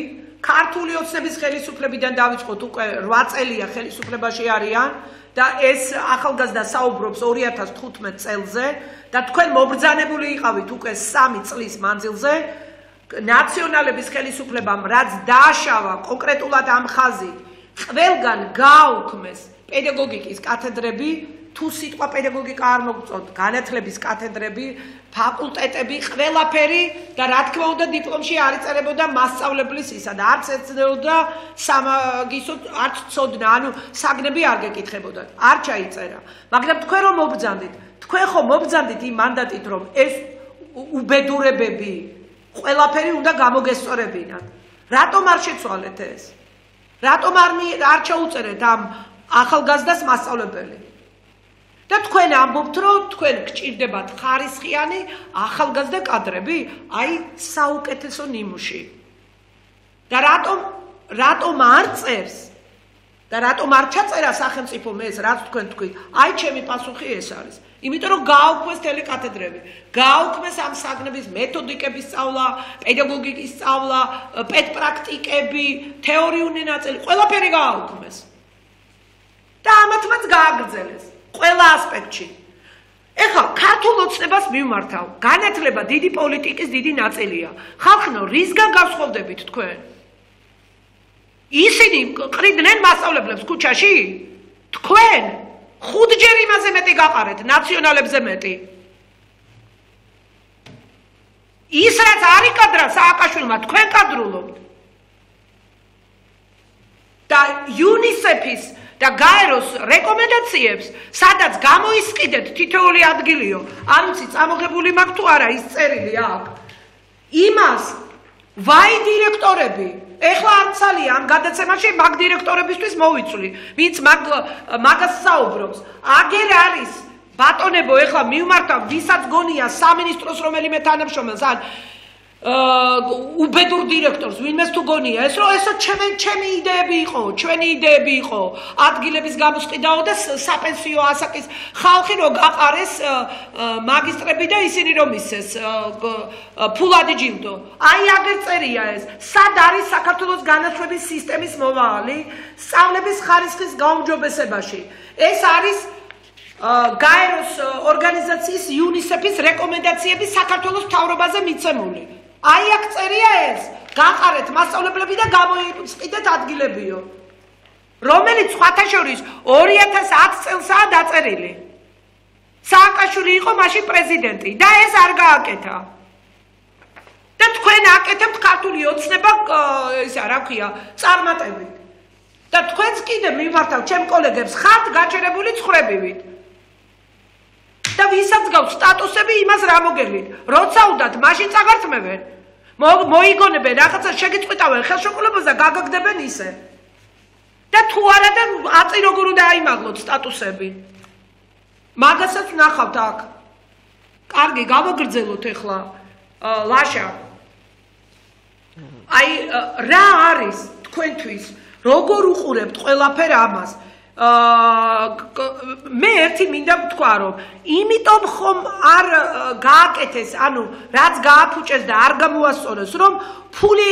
ქართული ოცნების ხელისუფლებიდან დავიწყოთ უკვე რვა წელია ხელისუფლებაში არიან და ეს ახალგაზრდა საუბრობს ორი ათას თხუთმეტ წელზე და თქვენ მობრძანებული იყავით უკვე სამი წლის მანძილზე ნაციონალების ხელისუფლებამ რაც დააშავა კონკრეტულად ამ ხაზით ყველგან გააუქმეს პედაგოგიკის კათედრები თუ სიტყვა პედაგოგიკა არ მოგწონთ განათლების კათედრები ფაკულტეტები ყველაფერი და რა თქმა უნდა დიპლომში არ იწერებოდა მასწავლებლის ისა და არც ეცნებოდა სამაგისტროთ არც ცოდნა ანუ საგნები არ გეკითხებოდა არ ჩაიწერა მაგრამ თქვენ რომ მობრძანდით თქვენ ხო მობრძანდით იმ მანდატით რომ ეს უბედურებები ყველაფერი უნდა გამოგესწორებინათ რატომ არ შეცვალეთ ეს რატომ არ არ ჩაუწერეთ ამ ახალგაზრდას მასწავლებელი და თქვენ ამბობთ რომ თქვენ გჭირდებათ ხარისხიანი ახალგაზრდა კადრები აი საუკეთესო ნიმუში და რატომ რატომ არ წერს და რატომ არ ჩაწერა სახელმწიფომ ეს რაც თქვენ თქვით აი ჩემი პასუხი ეს არის იმიტომ რომ გააუქმეს ტელეკათედრები გააუქმეს ამ საგნების მეთოდიკების სწავლა პედაგოგიკის სწავლა პედპრაქტიკები თეორიული ნაწილი ყველაფერი გააუქმეს და ამათმაც გააგრძელეს ყველა ასპექტში. ეხლა ქართულ ოცნებას მივმართავ. განათლება დიდი პოლიტიკის დიდი ნაწილია. ხალხნო, რისგან გავსხოვდებით თქვენ? ისინი ყრიდნენ მასწავლებლებს ქუჩაში? თქვენ ხუთჯერ იმაზე მეტი გაყარეთ, ნაციონალებზე მეტი. ის რაც არ იკადრა სააკაშვილმა, თქვენ კადრულობთ. და იუნისეფის და გაეროს რეკომენდაციებს, სადაც გამოისყიდეთ თითოეული ადგილიო, არ ვიცი, წამოღებული მაქვს თუ არა ის წერილი აქ. იმას ვაი დირექტორები, ეხლა არ ცალია ამ გადაცემაში მაგ დირექტორებისთვის მოვიცვლი, ვინც მაგ მაგას საუბრობს. აგერ არის ბატონებო, ეხლა მივმართავ, ვისაც გონია სამინისტროს რომელიმე თანამშრომელს ან უბედურ დირექტორს ვინმეს თუ გონია ეს რომ ესო ჩემი ჩემი იდეები იყო ჩვენი იდეები იყო ადგილების გამოსყიდაო და საპენსიო ასაკის ხალხი რომ გაყარეს მაგისტრები და ისინი რომ ისეს ფულადი ჯილდო აი აგერ წერია ეს სად არის საქართველოს განათლების სისტემის მომავალი სწავლების ხარისხის გაუმჯობესებაში ეს არის გაეროს ორგანიზაციის იუნისეფის რეკომენდაციები საქართველოს მთავრობაზე მიცემული აი აქ წერია ეს გაყარეთ მასწავლებლები და გამოიყიდეთ ადგილებიო რომელიც სხვათა შორის ორი ათას ათი წელსაა დაწერილი სააკაშვილი იყო მაშინ პრეზიდენტი და ეს არ გააკეთა და თქვენ აკეთებთ ქართული ოცნება ისა რა ქვია წარმატებით და თქვენც კიდე მიმართავ ჩემ კოლეგებს ხართ გაჩერებული ცხრებივით და ვისაც გაქვს სტატუსები იმას რა მოგელით როცა უნდათ მაშინ წაგართმევენ მოიგონებენ რაღაცა შეგიწყვიტავენ ხელშეკრულებას და გაგაგდებენ ისე და თუ არა და აწი როგორ უნდა აიმაღლოთ სტატუსები მაგასაც ნახავთ აქ კარგი გავაგრძელოთ ეხლა ლაშა აი რა არის თქვენთვის როგორ უყურებთ ყველაფერ ამას მე ერთი მინდა ვთქვა რომ იმიტომ ხომ არ გააკეთეს ანუ რაც გააფუჭეს და არ გამოასწორეს რომ ფული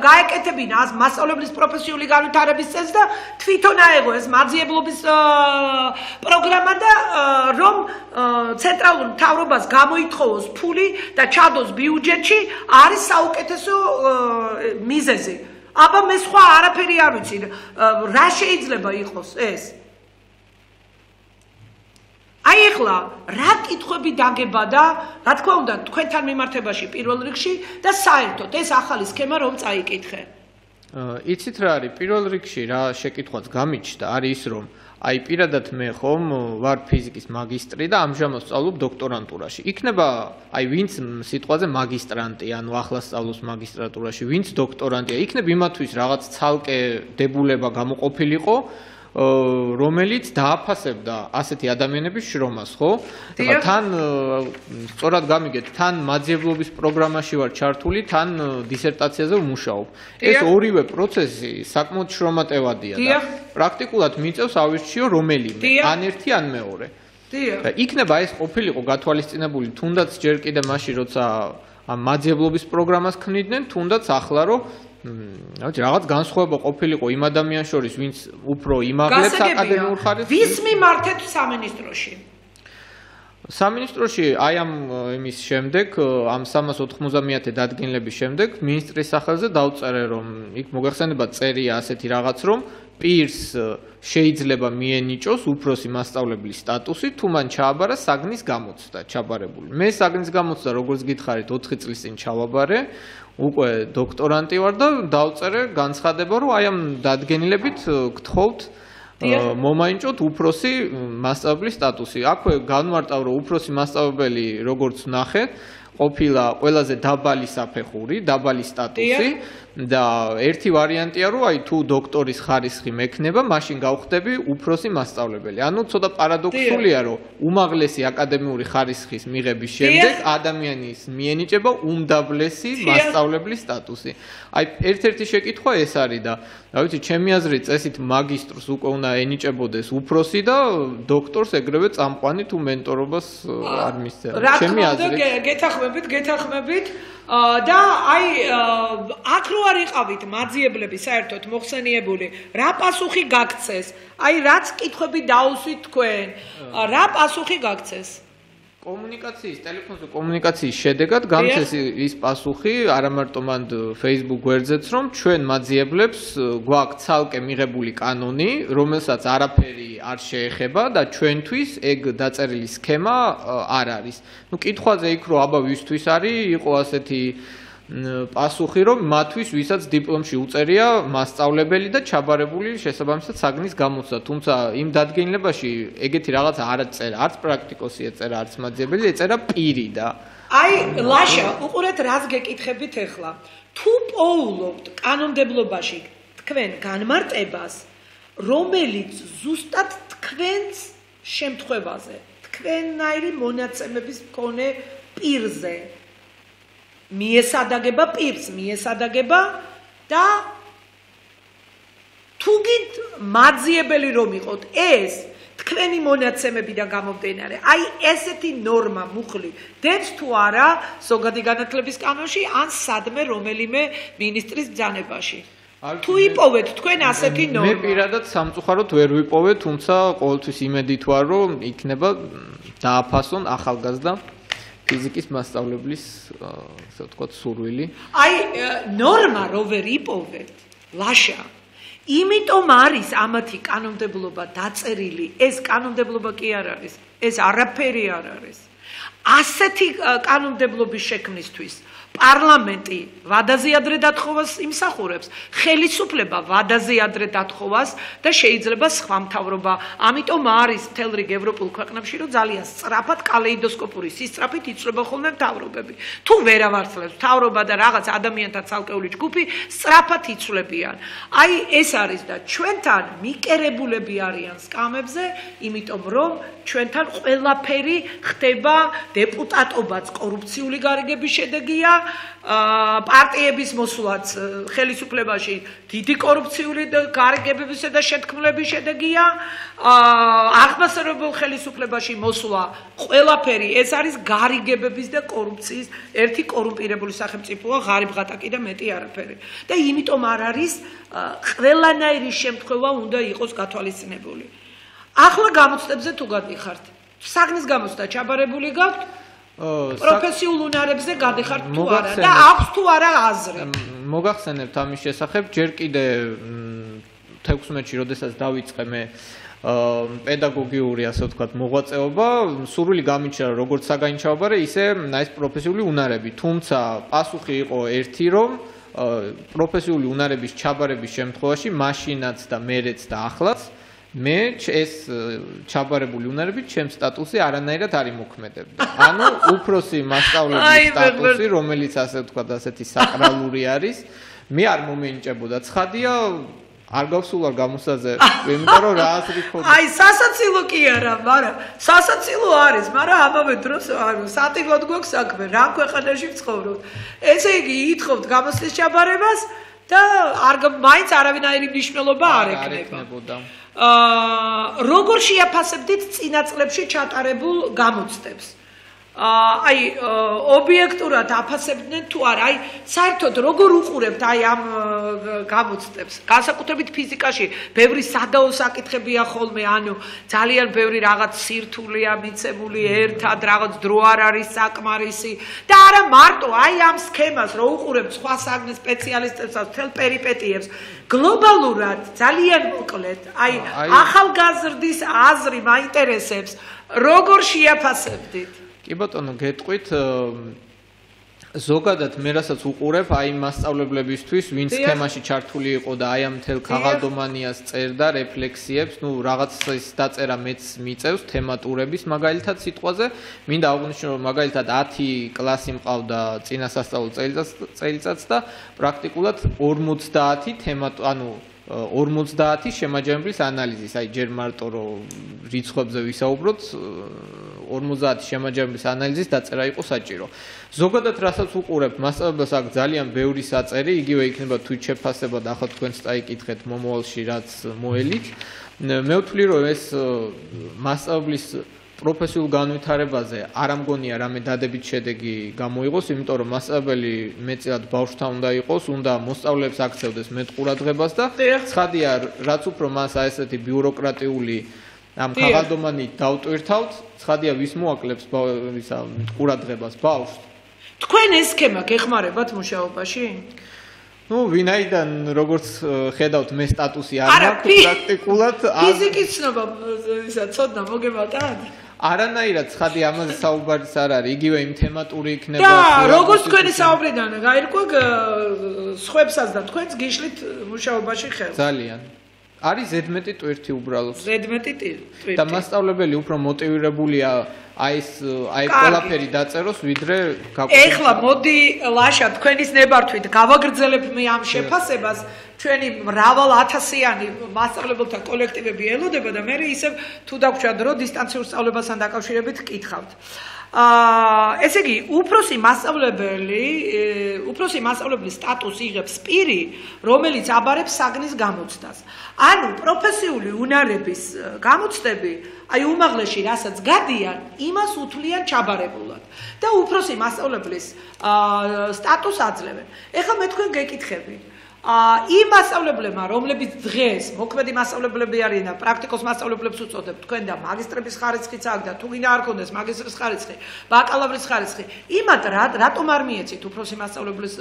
გაეკეთებინა მასწავლებლის პროფესიული განვითარების წესს და თვითონ აეღო ეს მაძიებლობის პროგრამა და რომ ცენტრალურ მთავრობას გამოითხოვოს ფული და ჩადოს ბიუჯეტში არის საუკეთესო მიზეზი. აბა მე სხვა არაფერი არ ვიცი რა შეიძლება იყოს ეს აი ახლა რა კითხვები დაგება და რა თქმა უნდა თქვენთან მიმართებაში პირველ რიგში და საერთოდ ეს ახალი სქემა რომ წაიკითხე იცით რა არის პირველ რიგში რა შეკითხვაც გამიჩნდა არის ის რომ აი პირადად მე ხომ ვარ ფიზიკის მაგისტრი და ამჟამად სწავლობ დოქტორანტურაში. იქნება აი ვინც სიტყვაზე მაგისტრანტი, ანუ ახლა სწავლობს მაგისტრატურაში, ვინც დოქტორანტია, იქნება იმათვის რაღაც ცალკე დებულება გამოყოფილიყო, რომელიც დააფასებდა ასეთი ადამიანების შრომას, ხო? თან სწორად გამიგეთ, თან მაძიებლობის პროგრამაში ვარ ჩართული, თან დისერტაციაზე ვმუშაობ. ეს ორივე პროცესი საკმაოდ შრომატევადია და პრაქტიკულად მიწევს ავირჩიო რომელიმე, ან ერთი, ან მეორე. და იქნება ეს ყოფილიყო გათვალისწინებული თუნდაც ჯერ კიდე მაშინ, როცა ამ მაძიებლობის პროგრამას ქმნიდნენ, თუნდაც ახლა რომ რა რაღაც განსხვავება ყოფილიყო იმ ადამიანს შორის, ვინც უფრო იმაღლებს აკადემიურ ხარისხს. ვის მიმართეთ სამინისტროში? სამინისტროში აი ამ იმის შემდეგ, ამ სამას ოთხმოცდამეათე დადგენილების შემდეგ, მინისტრის სახელზე დავწერე, რომ იქ მოგეხსენებათ წერია ასეთი რაღაც, რომ პირს შეიძლება მიენიჭოს უფროსი მასწავლებლის სტატუსი, თუ მან ჩააბარა საგნის გამოცდა, ჩაბარებული. მე საგნის გამოცდა, როგორც გითხარით, ოთხი წლის წინ ჩავაბარე. უკვე დოქტორანტი ვარ და დავწერე განცხადება, რომ აი ამ დადგენილებით გთხოვთ მომაინჭოთ უფროსი მასწავლებლის სტატუსი. აქვე განმარტავ, რომ უფროსი მასწავლებელი, როგორც ნახეთ, ყოფილა ყველაზე დაბალი საფეხური, დაბალი სტატუსი და ერთი ვარიანტია, რომ აი თუ დოქტორის ხარისხი მექნება, მაშინ გავხდები უფროსი მასწავლებელი. ანუ ცოტა პარადოქსულია, რომ უმაღლესი აკადემიური ხარისხის მიღების შემდეგ ადამიანის მიენიჭება უმდაბლესი მასწავლებლის სტატუსი. აი ერთ-ერთი შეკითხვა ეს არის და რა ვიცი, ჩემი აზრით წესით მაგისტრს უკვე უნდა ენიჭებოდეს უფროსი და დოქტორს ეგრევე წამყვანი თუ მენტორობას არ მისცემ. ჩემი აზრით გეთახმებით, გეთახმებით და აი აქ რო არ იყავით მაძიებლები საერთოდ მოხსენიებული, რა პასუხი გაგცეს? აი რაც კითხვები დაუსვით თქვენ, რა პასუხი გაგცეს? კომუნიკაციის, ტელეფონზე კომუნიკაციის შედეგად გამცეს ის პასუხი, არა მარტო მან Facebook გვერდზეც, რომ ჩვენ მაძიებლებს გვაქვს ცალკე მიღებული კანონი, რომელსაც არაფერი არ შეეხება და ჩვენთვის ეგ დაწერილი სქემა არ არის. ნუ კითხვაზე იქ რომ აბა ვისთვის არის, იყო ასეთი პასუხი, რომ მათთვის ვისაც დიპლომში უწერია მასწავლებელი და ჩაბარებული შესაბამისად საგნის გამოცდა, თუმცა იმ დადგენილებაში ეგეთი რაღაცა არ წერა, არც პრაქტიკოსი ეწერა, არც მაძიებელი, ეწერა პირი და აი ლაშა, უყურეთ რას გეკითხებით ახლა. თუ პოულობთ კანონმდებლობაში თქვენ განმარტებას, რომელიც ზუსტად თქვენს შემთხვევაზე, თქვენნაირი მონაცემების მქონე პირზე მიესადაგება პირს, მიესადაგება და თუ გით მაძიებელი რომ იყოთ ეს თქვენი მონაცემებიდან გამომდინარე, აი ესეთი ნორმა მუხლი დებს თუ არა ზოგადი განათლების კანონში ან სადმე რომელიმე მინისტრის ბრძანებაში. თუ იპოვეთ თქვენ ასეთი ნორმა. მე პირადად სამწუხაროდ ვერ ვიპოვე, თუმცა ყოველთვის იმედით ვარ, რომ იქნება დააფასონ ახალგაზრდა ფიზიკის მასწავლებლის, ასე ვთქვათ, სურვილი. აი, ნორმა რო ვერ იპოვეთ, ლაშა. იმიტომ არის ამათი კანონმდებლობა დაწერილი, ეს კანონმდებლობა კი არ არის, ეს არაფერი არ არის. ასეთი კანონმდებლობის შექმნისთვის პარლამენტი ვადაზე ადრე დათხოვას იმსახურებს, ხელისუფლება ვადაზე ადრე დათხოვას და შეიძლება სხვა მთავრობა. ამიტომ არის მთელ რიგ ევროპულ ქვეყნებში, რომ ძალიან სწრაფად კალეიდოსკოპური სისწრაფით იცვლება ხოლმე მთავრობები. თუ ვერავარცხლებს მთავრობა და რაღაც ადამიანთა ცალკეული ჯგუფი სწრაფად იცვლებიან. აი ეს არის და ჩვენთან მიკერებულები არიან სკამებზე, იმიტომ რომ ჩვენთან ყველაფერი ხდება დეპუტატობაც კორუფციული გარიგების შედეგია. პარტიების მოსვლაც ხელისუფლებაში დიდი კორუფციული გარიგებებისა და შეთქმულების შედეგია. აღმასრულებელ ხელისუფლებაში მოსვლა ყველაფერი ეს არის გარიგებების და კორუფციის ერთი კორუმპირებული სახელმწიფოა, ღარიბ ღატაკი და მეტი არაფერი. და იმიტომ არ არის ყველანაირი შემთხვევა უნდა იყოს გათვალისწინებული. ახლა გამოცდებზე თუ გადიხართ, საგნის გამოცდა ჩაბარებული გაქვთ? პროფესიულ უნარებზე გადიხართ თუ არა და აქვს თუ არა აზრი? მოგახსენებთ ამის შესახებ, ჯერ კიდე თექვსმეტში, როდესაც დავიწყე მე პედაგოგიური, ასე ვთქვათ, მოღვაწეობა, სურვილი გამიჩნდა როგორც საგანჩაობარე, ისე ეს პროფესიული უნარები. თუმცა პასუხი იყო ერთი, რომ პროფესიული უნარების ჩაბარების შემთხვევაში მაშინაც და მერეც და ახლაც მე ეს ჩაბარებული უნარები ჩემს სტატუსზე არანაირად არ იმოქმედებდა. ანუ უფროსი მასწავლებლის სტატუსი, რომელიც ასე ვთქვათ, ასეთი საკრალური არის, მე არ მომენიჭებოდა. ცხადია, არ გავსულა გამოსაზე, იმიტომ რომ რა აზრი ქონდა. აი, სასაცილო კი არა, მაგრამ სასაცილო არის, მაგრამ ამავე დროს სატივად გვაქვს საქმე, რა ქვეყანაში ვცხოვრობთ. ესე იგი, ითხოვთ გამოცდის ჩაბარებას და არ მაინც არავინაირი მნიშვნელობა არ ექნებოდა. აა როგორ შეაფასებდით წინა წლებში ჩატარებულ გამოცდებს? აი ობიექტურად აფასებდნენ თუ არა, აი საერთოდ როგორ უყურებთ აი ამ გამოცდებს? განსაკუთრებით ფიზიკაში ბევრი სადაო საკითხებია ხოლმე, ანუ ძალიან ბევრი რაღაც სირთულეა მიცემული ერთად, რაღაც დრო არ არის საკმარისი და არა მარტო აი ამ სქემას რო უყურებთ სხვა საგნის სპეციალისტებსაც თელ პერიპეტიებს, გლობალურად ძალიან მოკლედ, აი ახალგაზრდის აზრი მაინტერესებს, როგორ შეაფასებდით? კი ბატონო, გეტყვით, ზოგადად მე რასაც უყურებ აი მასწავლებლებისთვის, ვინც სქემაში ჩართული იყო და აი ამ მთელ ქაღალდომანიას წერდა რეფლექსიებს, ну რაღაც ის დაწერა მეც მიწევს თემატურების მაგალითად სიტყვაზე, მინდა აღვნიშნო რომ მაგალითად ათი კლასი მყავდა წინა სასწავლო წელიწადს და პრაქტიკულად ორმოცდაათი თემა, ანუ ორმოცდაათი შემაჯამებლის ანალიზის, აი ჯერ მარტო რომ რიცხვებზე ვისაუბროთ, ორმოცდაათი შემაჯამებლის ანალიზის დაწერა იყო საჭირო. ზოგადად რასაც უყურებ, მასწავლებლებს აქ ძალიან ბევრი საწერი, იგივე იქნება თვით შეფასება და ახლა თქვენც წაიკითხეთ მომავალში რაც მოელით. მე ვთვლი რომ ეს მასწავლებლის პროფესიულ განვითარებაზე არ ამგონია რამე დადებით შედეგი გამოიღოს, იმიტომ რომ მასწავლებელი მეტწილად ბავშვთან უნდა იყოს, უნდა მოსწავლეებს აქცევდეს მეტ ყურადღებას და ცხადია, რაც უფრო მას აი ესეთი ბიუროკრატიული ამ ქაღალდომანით დავტვირთავთ, ცხადია ვის მოაკლებს ისა ყურადღებას ბავშვს. თქვენ ეს სქემა გეხმარებათ მუშაობაში? ну, ვინაიდან როგორც ხედავთ, მე სტატუსი არ მაქვს პრაქტიკულად. ფიზიკის ცნობა ისა ცოდნა მოგებატად? არანაირად ცხადი ამაზე საუბარიც არ არის, იგივე იმ თემატური იქნება. და როგორც თქვენი საუბრიდან გაირკვა, სხვებსაც და თქვენს გიშლით მუშაობაში ხელს. ძალიან. არის ზედმეტი ტვირთი უბრალოდ. ზედმეტი ტვირთი. და მასწავლებელი უფრო მოტივირებულია აი ეს აი ყველაფერი დაწეროს, ვიდრე გაკვეთილ. ეხლა მოდი ლაშა თქვენის ნებართვით გავაგრძელებ მე ამ შეფასებას. ჩვენი მრავალ ათასიანი მასწავლებელთა კოლექტივები ელოდება და მე ისევ თუ დაგვრჩა დრო დისტანციურ სწავლებასთან დაკავშირებით კითხავთ. აა ესე იგი, უფროსი მასწავლებელი, უფროსი მასწავლებლის სტატუსი იღებს პირი, რომელიც აბარებს საგნის გამოცდას. ანუ პროფესიული უნარების გამოცდები, აი უმაღლესში რასაც გადიან, იმას უთვლიან ჩაბარებულად და უფროსი მასწავლებლის აა სტატუსს აძლევენ. ეხლა მე თქვენ გეკითხები იმ მასწავლებლებმა, რომლებიც დღეს მოქმედი მასწავლებლები არიან და პრაქტიკოს მასწავლებლებს უწოდებთ, თქვენ და მაგისტრების ხარისხიც აქვს და თუ გინდა არ ქონდეს მაგისტრის ხარისხი, ბაკალავრის ხარისხი, იმათ რატომ არ მიეცით უფროსი მასწავლებლის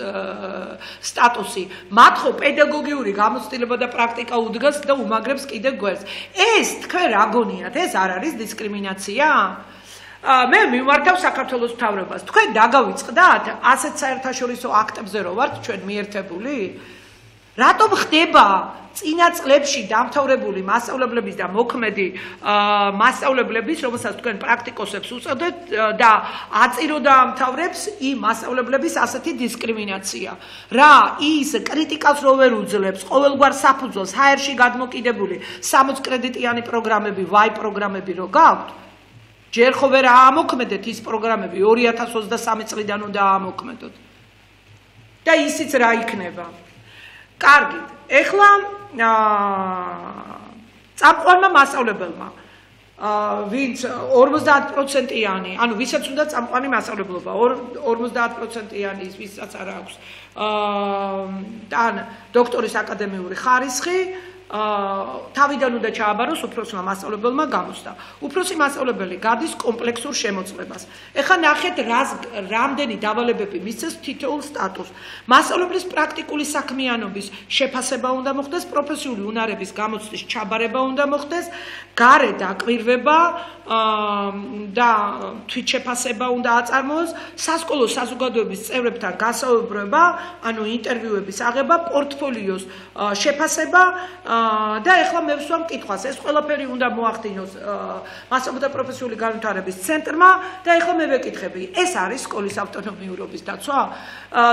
სტატუსი? მათ ხო პედაგოგიური გამოცდილება და პრაქტიკა უდგას და უმაგრებს კიდე გვერდს. ეს თქვენ რა გონიათ? ეს არ არის დისკრიმინაცია? მე მიმართავ საქართველოს მთავრობას. თქვენ დაგავიწყდათ ასეთ საერთაშორისო აქტებზე რო ვართ ჩვენ მიერთებული? რატომ ხდება წინა წლებში დამთავრებული მასწავლებლების და მოქმედი მასწავლებლების, რომელსაც თქვენ პრაქტიკოსებს უწოდებთ და აწირო დაამთავრებს იმ მასწავლებლების ასეთი დისკრიმინაცია? რა ის კრიტიკას რო ვერ უძლებს, ყოველგვარ საფუძველს ჰაერში გადმოკიდებული სამოც კრედიტიანი პროგრამები, ვაი პროგრამები რო გაქვთ? ჯერ ხო ვერ აამოქმედეთ ის პროგრამები, ორი ათას ოცდასამი წლიდან უნდა აამოქმედოთ. და ისიც რა იქნება. კარგით, ეხლა წამყვანმა მასწავლებელმა ვინც ორმოცდაათ პროცენტიანი, ანუ ვისაც უნდა წამყვანი მასწავლებლობა, ორმოცდაათ პროცენტიანი ის ვისაც არ აქვს ან დოქტორის აკადემიური ხარისხი, თავიდან უნდა ჩააბაროს უფროსმა მასწავლებელმა გამოსდა. უფროსი მასწავლებელი გადის კომპლექსურ შემოწმებას. ეხლა ნახეთ, რამდენი დავალებები მისცეს თითოეულ სტატუსს. მასწავლებლის პრაქტიკული საქმიანობის შეფასება უნდა მოხდეს, პროფესიული უნარების გამოცდის ჩაბარება უნდა მოხდეს, გარე დაკვირვება და თვითშეფასება უნდა აწარმოოს, სასკოლო საზოგადოების წევრებთან გასაუბრება, ანუ ინტერვიუების აღება, პორტფოლიოს შეფასება და ეხლა მე ვსვამ კითხვას, ეს ყველაფერი უნდა მოახდინოს მასწავლებელთა პროფესიული განვითარების ცენტრმა და ეხლა მე ვეკითხები, ეს არის სკოლის ავტონომიურობის დაცვა?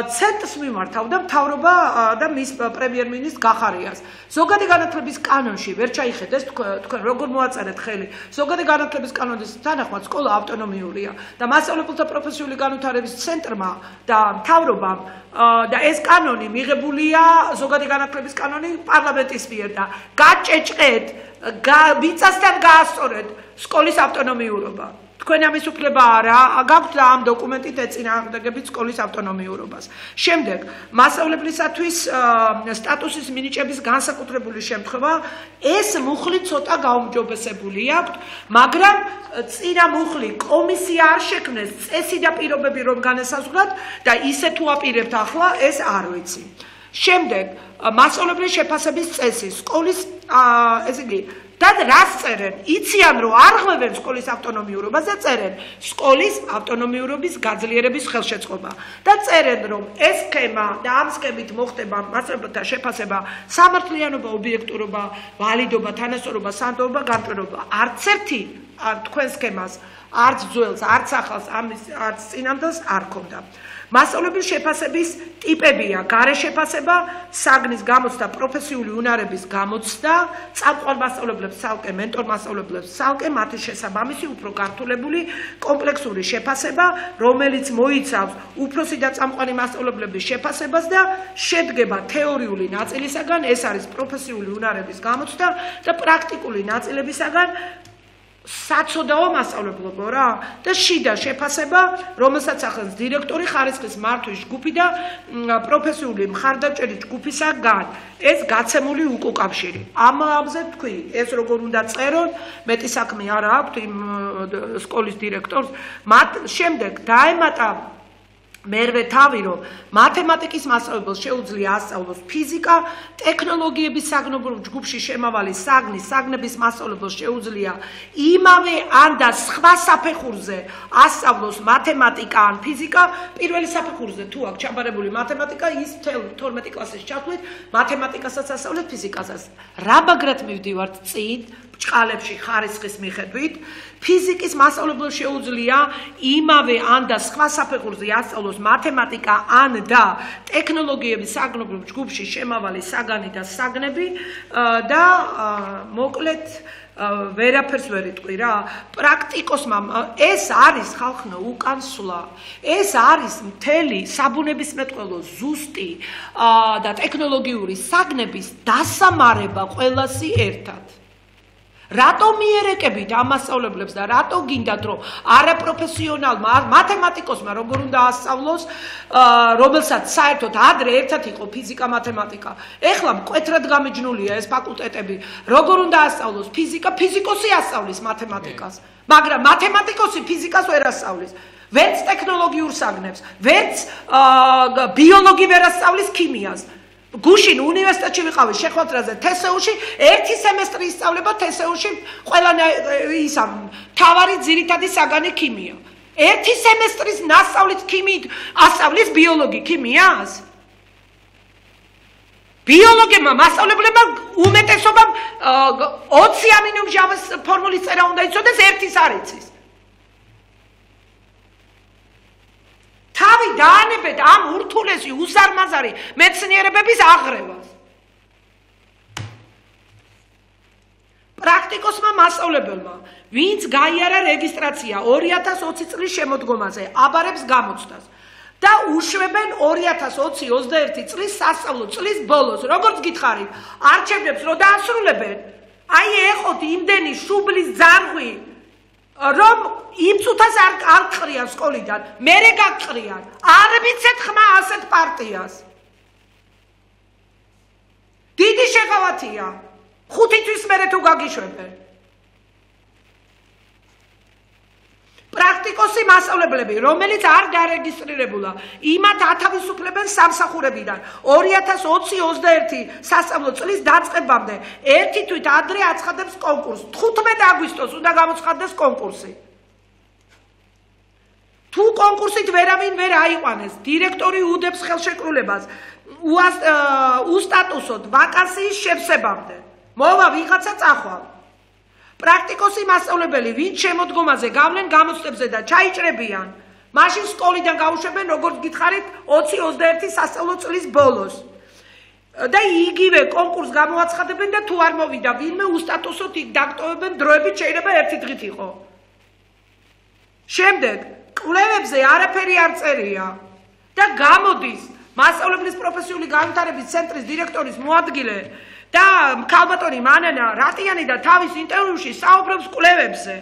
ცენტრს მიმართავდა მთავრობა და მის პრემიერ-მინისტრ გახარიას. ზოგადი განათლების კანონში ვერ ჩაიხედეს თქვენ როგორ მოაწერეთ ხელი. ზოგადი განათლების კანონის თანახმად სკოლა ავტონომიურია და მასწავლებელთა პროფესიული განვითარების ცენტრმა და მთავრობამ და ეს კანონი მიღებულია ზოგადი განათლების კანონი პარლამენტის მიერ და გაჭეჭყეთ, მიწასთან გაასწორეთ სკოლის ავტონომიურობა. თქვენ ამის უფლება არა გაქვთ და ამ დოკუმენტით ეწინააღმდეგებით სკოლის ავტონომიურობას. შემდეგ, მასწავლებლისათვის სტატუსის მინიჭების განსაკუთრებული შემთხვევა, ეს მუხლი ცოტა გაუმჯობესებული აქვთ, მაგრამ წინა მუხლი კომისია არ შექმნეს წესი და პირობები რომ განესაზღვრათ და ისე თუ აპირებთ ახლა, ეს არ ვიცი. შემდეგ, მასწავლებლის შეფასების წესი, სკოლის ესე იგი და რას წერენ? იციან რომ არ ღვევენ სკოლის ავტონომიურობას და წერენ სკოლის ავტონომიურობის გაძლიერების ხელშეწყობა და წერენ რომ ეს სქემა და ამ სქემით მოხდება მასწავლებელთა შეფასება, სამართლიანობა, ობიექტურობა, ვალიდობა, თანასწორობა, სანდოობა, განტვერობა. არც ერთი თქვენ სქემას, არც ძველს, არც ახალს, ამის არც წინანდელს არ ქონდა. მასწავლებლის შეფასების ტიპებია: გარე შეფასება, საგნის გამოცდა, პროფესიული უნარების გამოცდა, წამყვან მასწავლებლებს ცალკე, მენტორ მასწავლებლებს ცალკე, მათი შესაბამისი უფრო გართულებული კომპლექსური შეფასება, რომელიც მოიცავს უფროსი და წამყვანი მასწავლებლების შეფასებას და შედგება თეორიული ნაწილისაგან, ეს არის პროფესიული უნარების გამოცდა და პრაქტიკული ნაწილებისაგან საცოდაო მასწავლებლობა რა და შიდა შეფასება, რომელსაც ახდენს დირექტორი ხარისხის მართვის ჯგუფი და პროფესიული მხარდაჭერის ჯგუფისაგან. ეს გაცემული უკავშირი. ამაზე თქვი, ეს როგორ უნდა წერონ, მეტი საქმე არა აქვთ იმ სკოლის დირექტორს. მათ შემდეგ დაემატა მერვე თავი, რომ მათემატიკის მასწავლებელს შეუძლია ასწავლოს ფიზიკა, ტექნოლოგიების საგნობრივ ჯგუფში შემავალი საგნის, საგნების მასწავლებელს შეუძლია იმავე ან და სხვა საფეხურზე ასწავლოს მათემატიკა ან ფიზიკა, პირველი საფეხურზე თუ აქვს ჩაბარებული მათემატიკა, ის თორმეტი კლასის ჩათვლით მათემატიკასაც ასწავლეთ, ფიზიკასაც. რა მაგრად მივდივართ წინ ბრჭყალებში ხარისხის მიხედვით, ფიზიკის მასწავლებელს შეუძლია იმავე ან და სხვა საფეხურზე ასწავლოს მათემატიკა ან და ტექნოლოგიების საგნობრივ ჯგუფში შემავალი საგანი და საგნები და მოკლედ ვერაფერს ვერ იტყვი რა. პრაქტიკოსმა ეს არის ხალხო უკან სვლა. ეს არის მთელი საბუნებისმეტყველო ზუსტი და ტექნოლოგიური საგნების დასამარება ყველასი ერთად. რატო მიერეკებით ამ მასწავლებლებს და რატო გინდათ რომ არაპროფესიონალმა მათემატიკოსმა როგორ უნდა ასწავლოს, რომელსაც საერთოდ ადრე ერთად იყო ფიზიკა, მათემატიკა. ეხლა მკვეთრად გამიჯნულია ეს ფაკულტეტები. როგორ უნდა ასწავლოს ფიზიკა, ფიზიკოსი ასწავლის მათემატიკას, მაგრამ მათემატიკოსი ფიზიკას ვერ ასწავლის. ვერც ტექნოლოგიურ საგნებს, ვერც ბიოლოგი ვერ ასწავლის ქიმიას. გუშინ უნივერსიტეტში ვიყავი შეხვედრაზე თესეუში, ერთი სემესტრი ისწავლება თესეუში ყველა ისა თავარი ძირითადი საგანი ქიმია. ერთი სემესტრის ნასწავლით ქიმიით ასწავლის ბიოლოგი ქიმიას? ბიოლოგებმა მასწავლებლებმა უმეტესობამ ოცი ამინომჟავის ფორმულის წერა უნდა იცოდეს, ერთის არ იცის. თავი დაანებეთ ამ ურთულესი უსარმაზარი მეცნიერებების აღრევას. პრაქტიკოსმა მასწავლებელმა, ვინც გაიარა რეგისტრაცია ორი ათას ოცი წლის შემოდგომაზე, აბარებს გამოცდას. და უშვებენ ორი ათას ოცი ოცდაერთი წლის სასწავლო წლის ბოლოს. როგორც გითხარით, არჩევნებს რო დაასრულებენ, აი ეხოთ იმდენი შუბლის ძარღვი, რომ იმ წუთას არ არ ყრიან სკოლიდან, მერე გაგყრიან. არ მიცეთ ხმა ასეთ პარტიას. დიდი შეღავათია. ხუთი თვის მერე თუ გაგიშვებენ. პრაქტიკოსი მასწავლებლები, რომელიც არ დარეგისტრირებულა, იმათ ათავისუფლებენ სამსახურებიდან. ორი ათას ოცი ოცდაერთი სასწავლო წლის დაწყებამდე ერთი თვით ადრე აცხადებს კონკურსს. თხუთმეტი აგვისტოს უნდა გამოცხადდეს კონკურსი. თუ კონკურსით ვერავინ ვერ აიყვანეს, დირექტორი უდებს ხელშეკრულებას უსტატუსოდ ვაკანსიის შევსებამდე. მოვა ვიღაცა წახვალ. პრაქტიკოსი მასწავლებელი, ვინც შემოდგომაზე გავლენ გამოცდებზე და ჩაიჭრებიან, მაშინ სკოლიდან გაუშვებენ, როგორც გითხარით, ოცი ოცდაერთი სასწავლო წლის ბოლოს. და იგივე კონკურს გამოაცხადებენ და თუ არ მოვიდა ვინმე უსტატუსოდ იქ დაგტოვებენ, დროებით შეიძლება ერთი დღით იყო. შემდეგ, კვლევებზე არაფერი არ წერია და გამოდის მასწავლებლის პროფესიული განვითარების ცენტრის დირექტორის მოადგილე და ქალბატონი მანანა რატიანი და თავის ინტერვიუში საუბრობს კვლევებზე.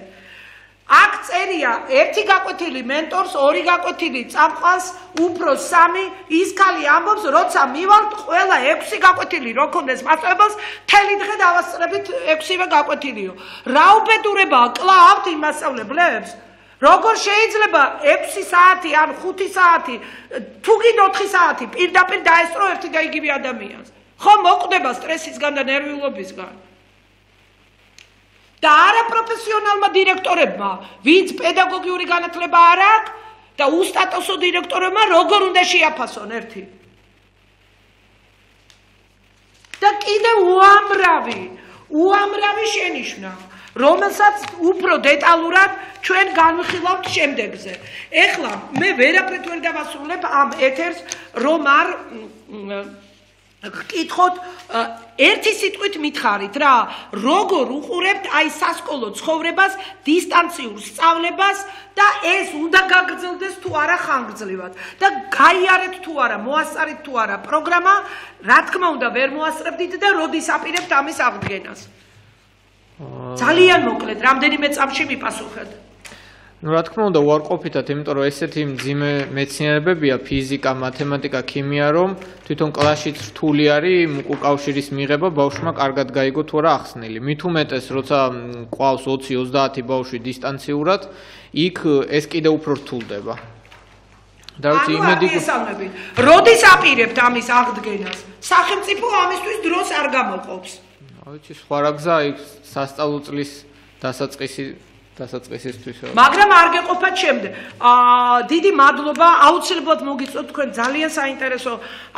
აქ წერია ერთი გაკვეთილი მენტორს, ორი გაკვეთილი წამყვანს, უფრო სამი, ის ქალი ამბობს, როცა მივალთ ყველა ექვსი გაკვეთილი რო ქონდეს მასწავლებელს, მთელი დღე დავასწრებით ექვსივე გაკვეთილიო. რა უბედურებაა კლავთ იმ მასწავლებლებს? როგორ შეიძლება ექვსი საათი ან ხუთი საათი, თუ გინდა ოთხი საათი პირდაპირ დაესწრო ერთი და იგივე ადამიანს? ხო მოკვდება სტრესისგან და ნერვიულობისგან. და არა პროფესიონალმა დირექტორებმა, ვინც პედაგოგიური განათლება არ აქვს და უსტატუსო დირექტორებმა როგორ უნდა შეაფასონ ერთი. და კიდევ უამრავი, უამრავი შენიშვნა, რომელსაც უფრო დეტალურად ჩვენ განვიხილავთ შემდეგზე. ეხლა მე ვერაფრით ვერ დავასრულებ ამ ეთერს, რომ არ გკითხოთ ერთი სიტყვით მითხარით რა, როგორ უყურებთ აი სასკოლო ცხოვრებას, დისტანციურ სწავლებას და ეს უნდა გაგრძელდეს თუ არა ხანგრძლივად და გაიარეთ თუ არა, მოასწარეთ თუ არა პროგრამა, რა თქმა უნდა ვერ მოასწრებდით და როდის აპირებთ ამის აღდგენას. ძალიან მოკლედ, რამდენიმე წამში მიპასუხეთ. ну რა თქმა უნდა უარყოფითად, იმიტომ რომ ესეთი მძიმე მეცნიერებებია ფიზიკა, მათემატიკა, ქიმია, რომ თვითონ კლასშიც რთული არის უკავშირის მიღება ბავშვმა კარგად გაიგო თუ არა ახსნილი. მით უმეტეს, როცა ყავს ოცი ოცდაათი ბავშვი დისტანციურად, იქ ეს კიდევ უფრო რთულდება. და ვიცი იმედი როდის აპირებთ ამის აღდგენას? სახელმწიფო ამისთვის დროს არ გამოყოფს. ვიცი სხვა რა გზა იქ სასწავლო წლის დასაწყისი დასაწყისისთვის. მაგრამ არ გეყოფათ შემდეგ. აა დიდი მადლობა, აუცილებლად მოგიწევთ თქვენ ძალიან საინტერესო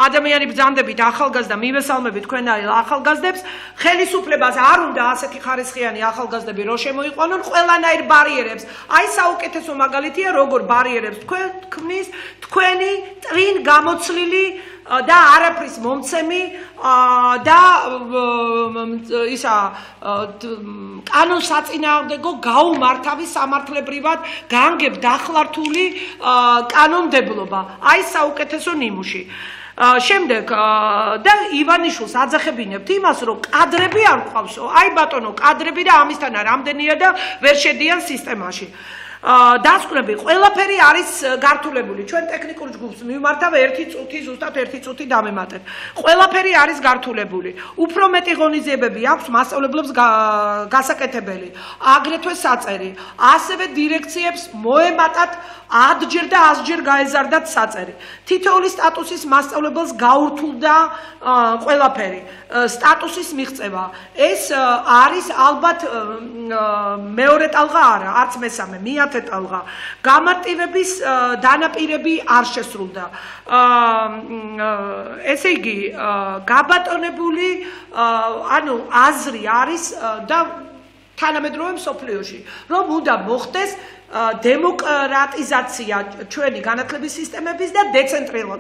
ადამიანი ბრძანდებით, ახალგაზრდა მივესალმებით თქვენ ახალგაზრდებს. ხელისუფლებას არ უნდა ასეთი ხარისხიანი ახალგაზრდები რო შემოიყვანონ ყველანაირ ბარიერებს. აი საუკეთესო მაგალითია, როგორ ბარიერებს თქვენ ქმნის თქვენი წინ გამოცლილი და არაფრის მომცემი და ისა კანონსაწინააღმდეგო გაუმართავი სამართლებრივად განგებ დახლართული კანონმდებლობა. აი საუკეთესო ნიმუში. შემდეგ და ივანიშვილს აძახებინებთ იმას, რომ კადრები არ ყავსო. აი ბატონო, კადრები და ამისთანა რამდენია და ვერ შედიან სისტემაში. დასკვნები ყველაფერი არის გართულებული. ჩვენ ტექნიკურ ჯგუფს მივმართავ ერთი წუთი, ზუსტად ერთი წუთი დამემატეთ. ყველაფერი არის გართულებული. უფრო მეტი ღონისძიებები აქვს მასწავლებლებს გასაკეთებელი, აგრეთვე საწერი. ასევე დირექციებს მოემატათ ათჯერ და ასჯერ გაეზარდათ საწერი. თითოეული სტატუსის მასწავლებელს გაურთულდა ყველაფერი. სტატუსის მიღწევა. ეს არის ალბათ მეორე ტალღა არა, არც მესამე, მეათე ტალღა. გამარტივების დანაპირები არ შესრულდა. ესე იგი, გაბატონებული ანუ აზრი არის და თანამედროვე მსოფლიოში, რომ უნდა მოხდეს დემოკრატიზაცია ჩვენი განათლების სისტემების და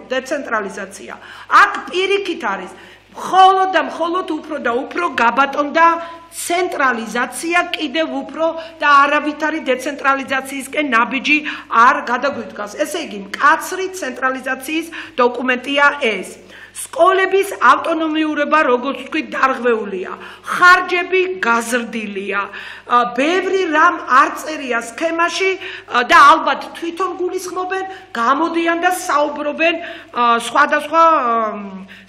დეცენტრალიზაცია. აქ პირიქით არის მხოლოდ და მხოლოდ უფრო და უფრო გაბატონდა ცენტრალიზაცია კიდევ უფრო და არავითარი დეცენტრალიზაციისკენ ნაბიჯი არ გადაგვიდგას. ესე იგი, მკაცრი ცენტრალიზაციის დოკუმენტია ეს. სკოლების ავტონომიურობა, როგორც თქვი, დარღვეულია. ხარჯები გაზრდილია. ბევრი რამ არ წერია სქემაში და ალბათ თვითონ გულისხმობენ, გამოდიან და საუბრობენ სხვადასხვა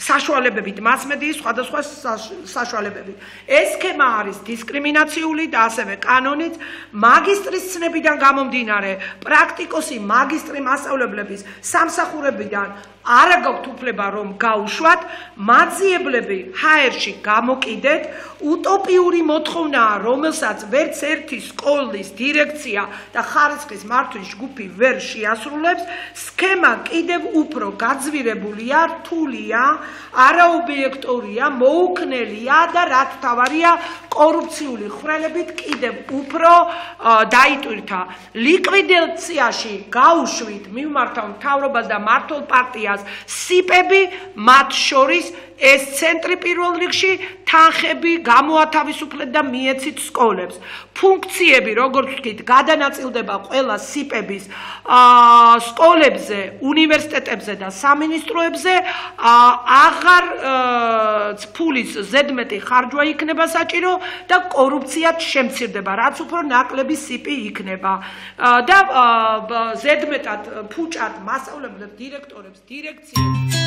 საშუალებებით, მასმედიის სხვადასხვა საშუალებებით. ეს სქემა არის დისკრიმინაციული და ასევე კანონით მაგისტრის ცნებიდან გამომდინარე, პრაქტიკოსი მაგისტრი მასწავლებლების სამსახურებიდან არა გაქვთ უფლება რომ გაუშვათ, მაძიებლები ჰაერში გამოკიდეთ, უტოპიური მოთხოვნაა, რომელსაც ვერც ერთი სკოლის დირექცია და ხარისხის მართვის ჯგუფი ვერ შეასრულებს, სქემა კიდევ უფრო გაძვირებულია, რთულია, არაობიექტურია, მოუქნელია და რაც თავარია, კორუფციული ხვრელებით კიდევ უფრო დაიტვირთა. ლიკვიდაციაში გაუშვით მიმართავ მთავრობას და მმართველ პარტიას სიპები, მათ შორის ეს ცენტრი პირველ რიგში თანხები გამოათავისუფლეთ და მიეცით სკოლებს. ფუნქციები, როგორც ვთქვით, გადანაწილდება ყველა სიპების სკოლებზე, უნივერსიტეტებზე და სამინისტროებზე, აღარ ფულის ზედმეტი ხარჯვა იქნება საჭირო და კორუფციაც შემცირდება, რაც უფრო ნაკლები სიპი იქნება. და ზედმეტად ფუჭად მასწავლებლებს, დირექტორებს, დირექციებს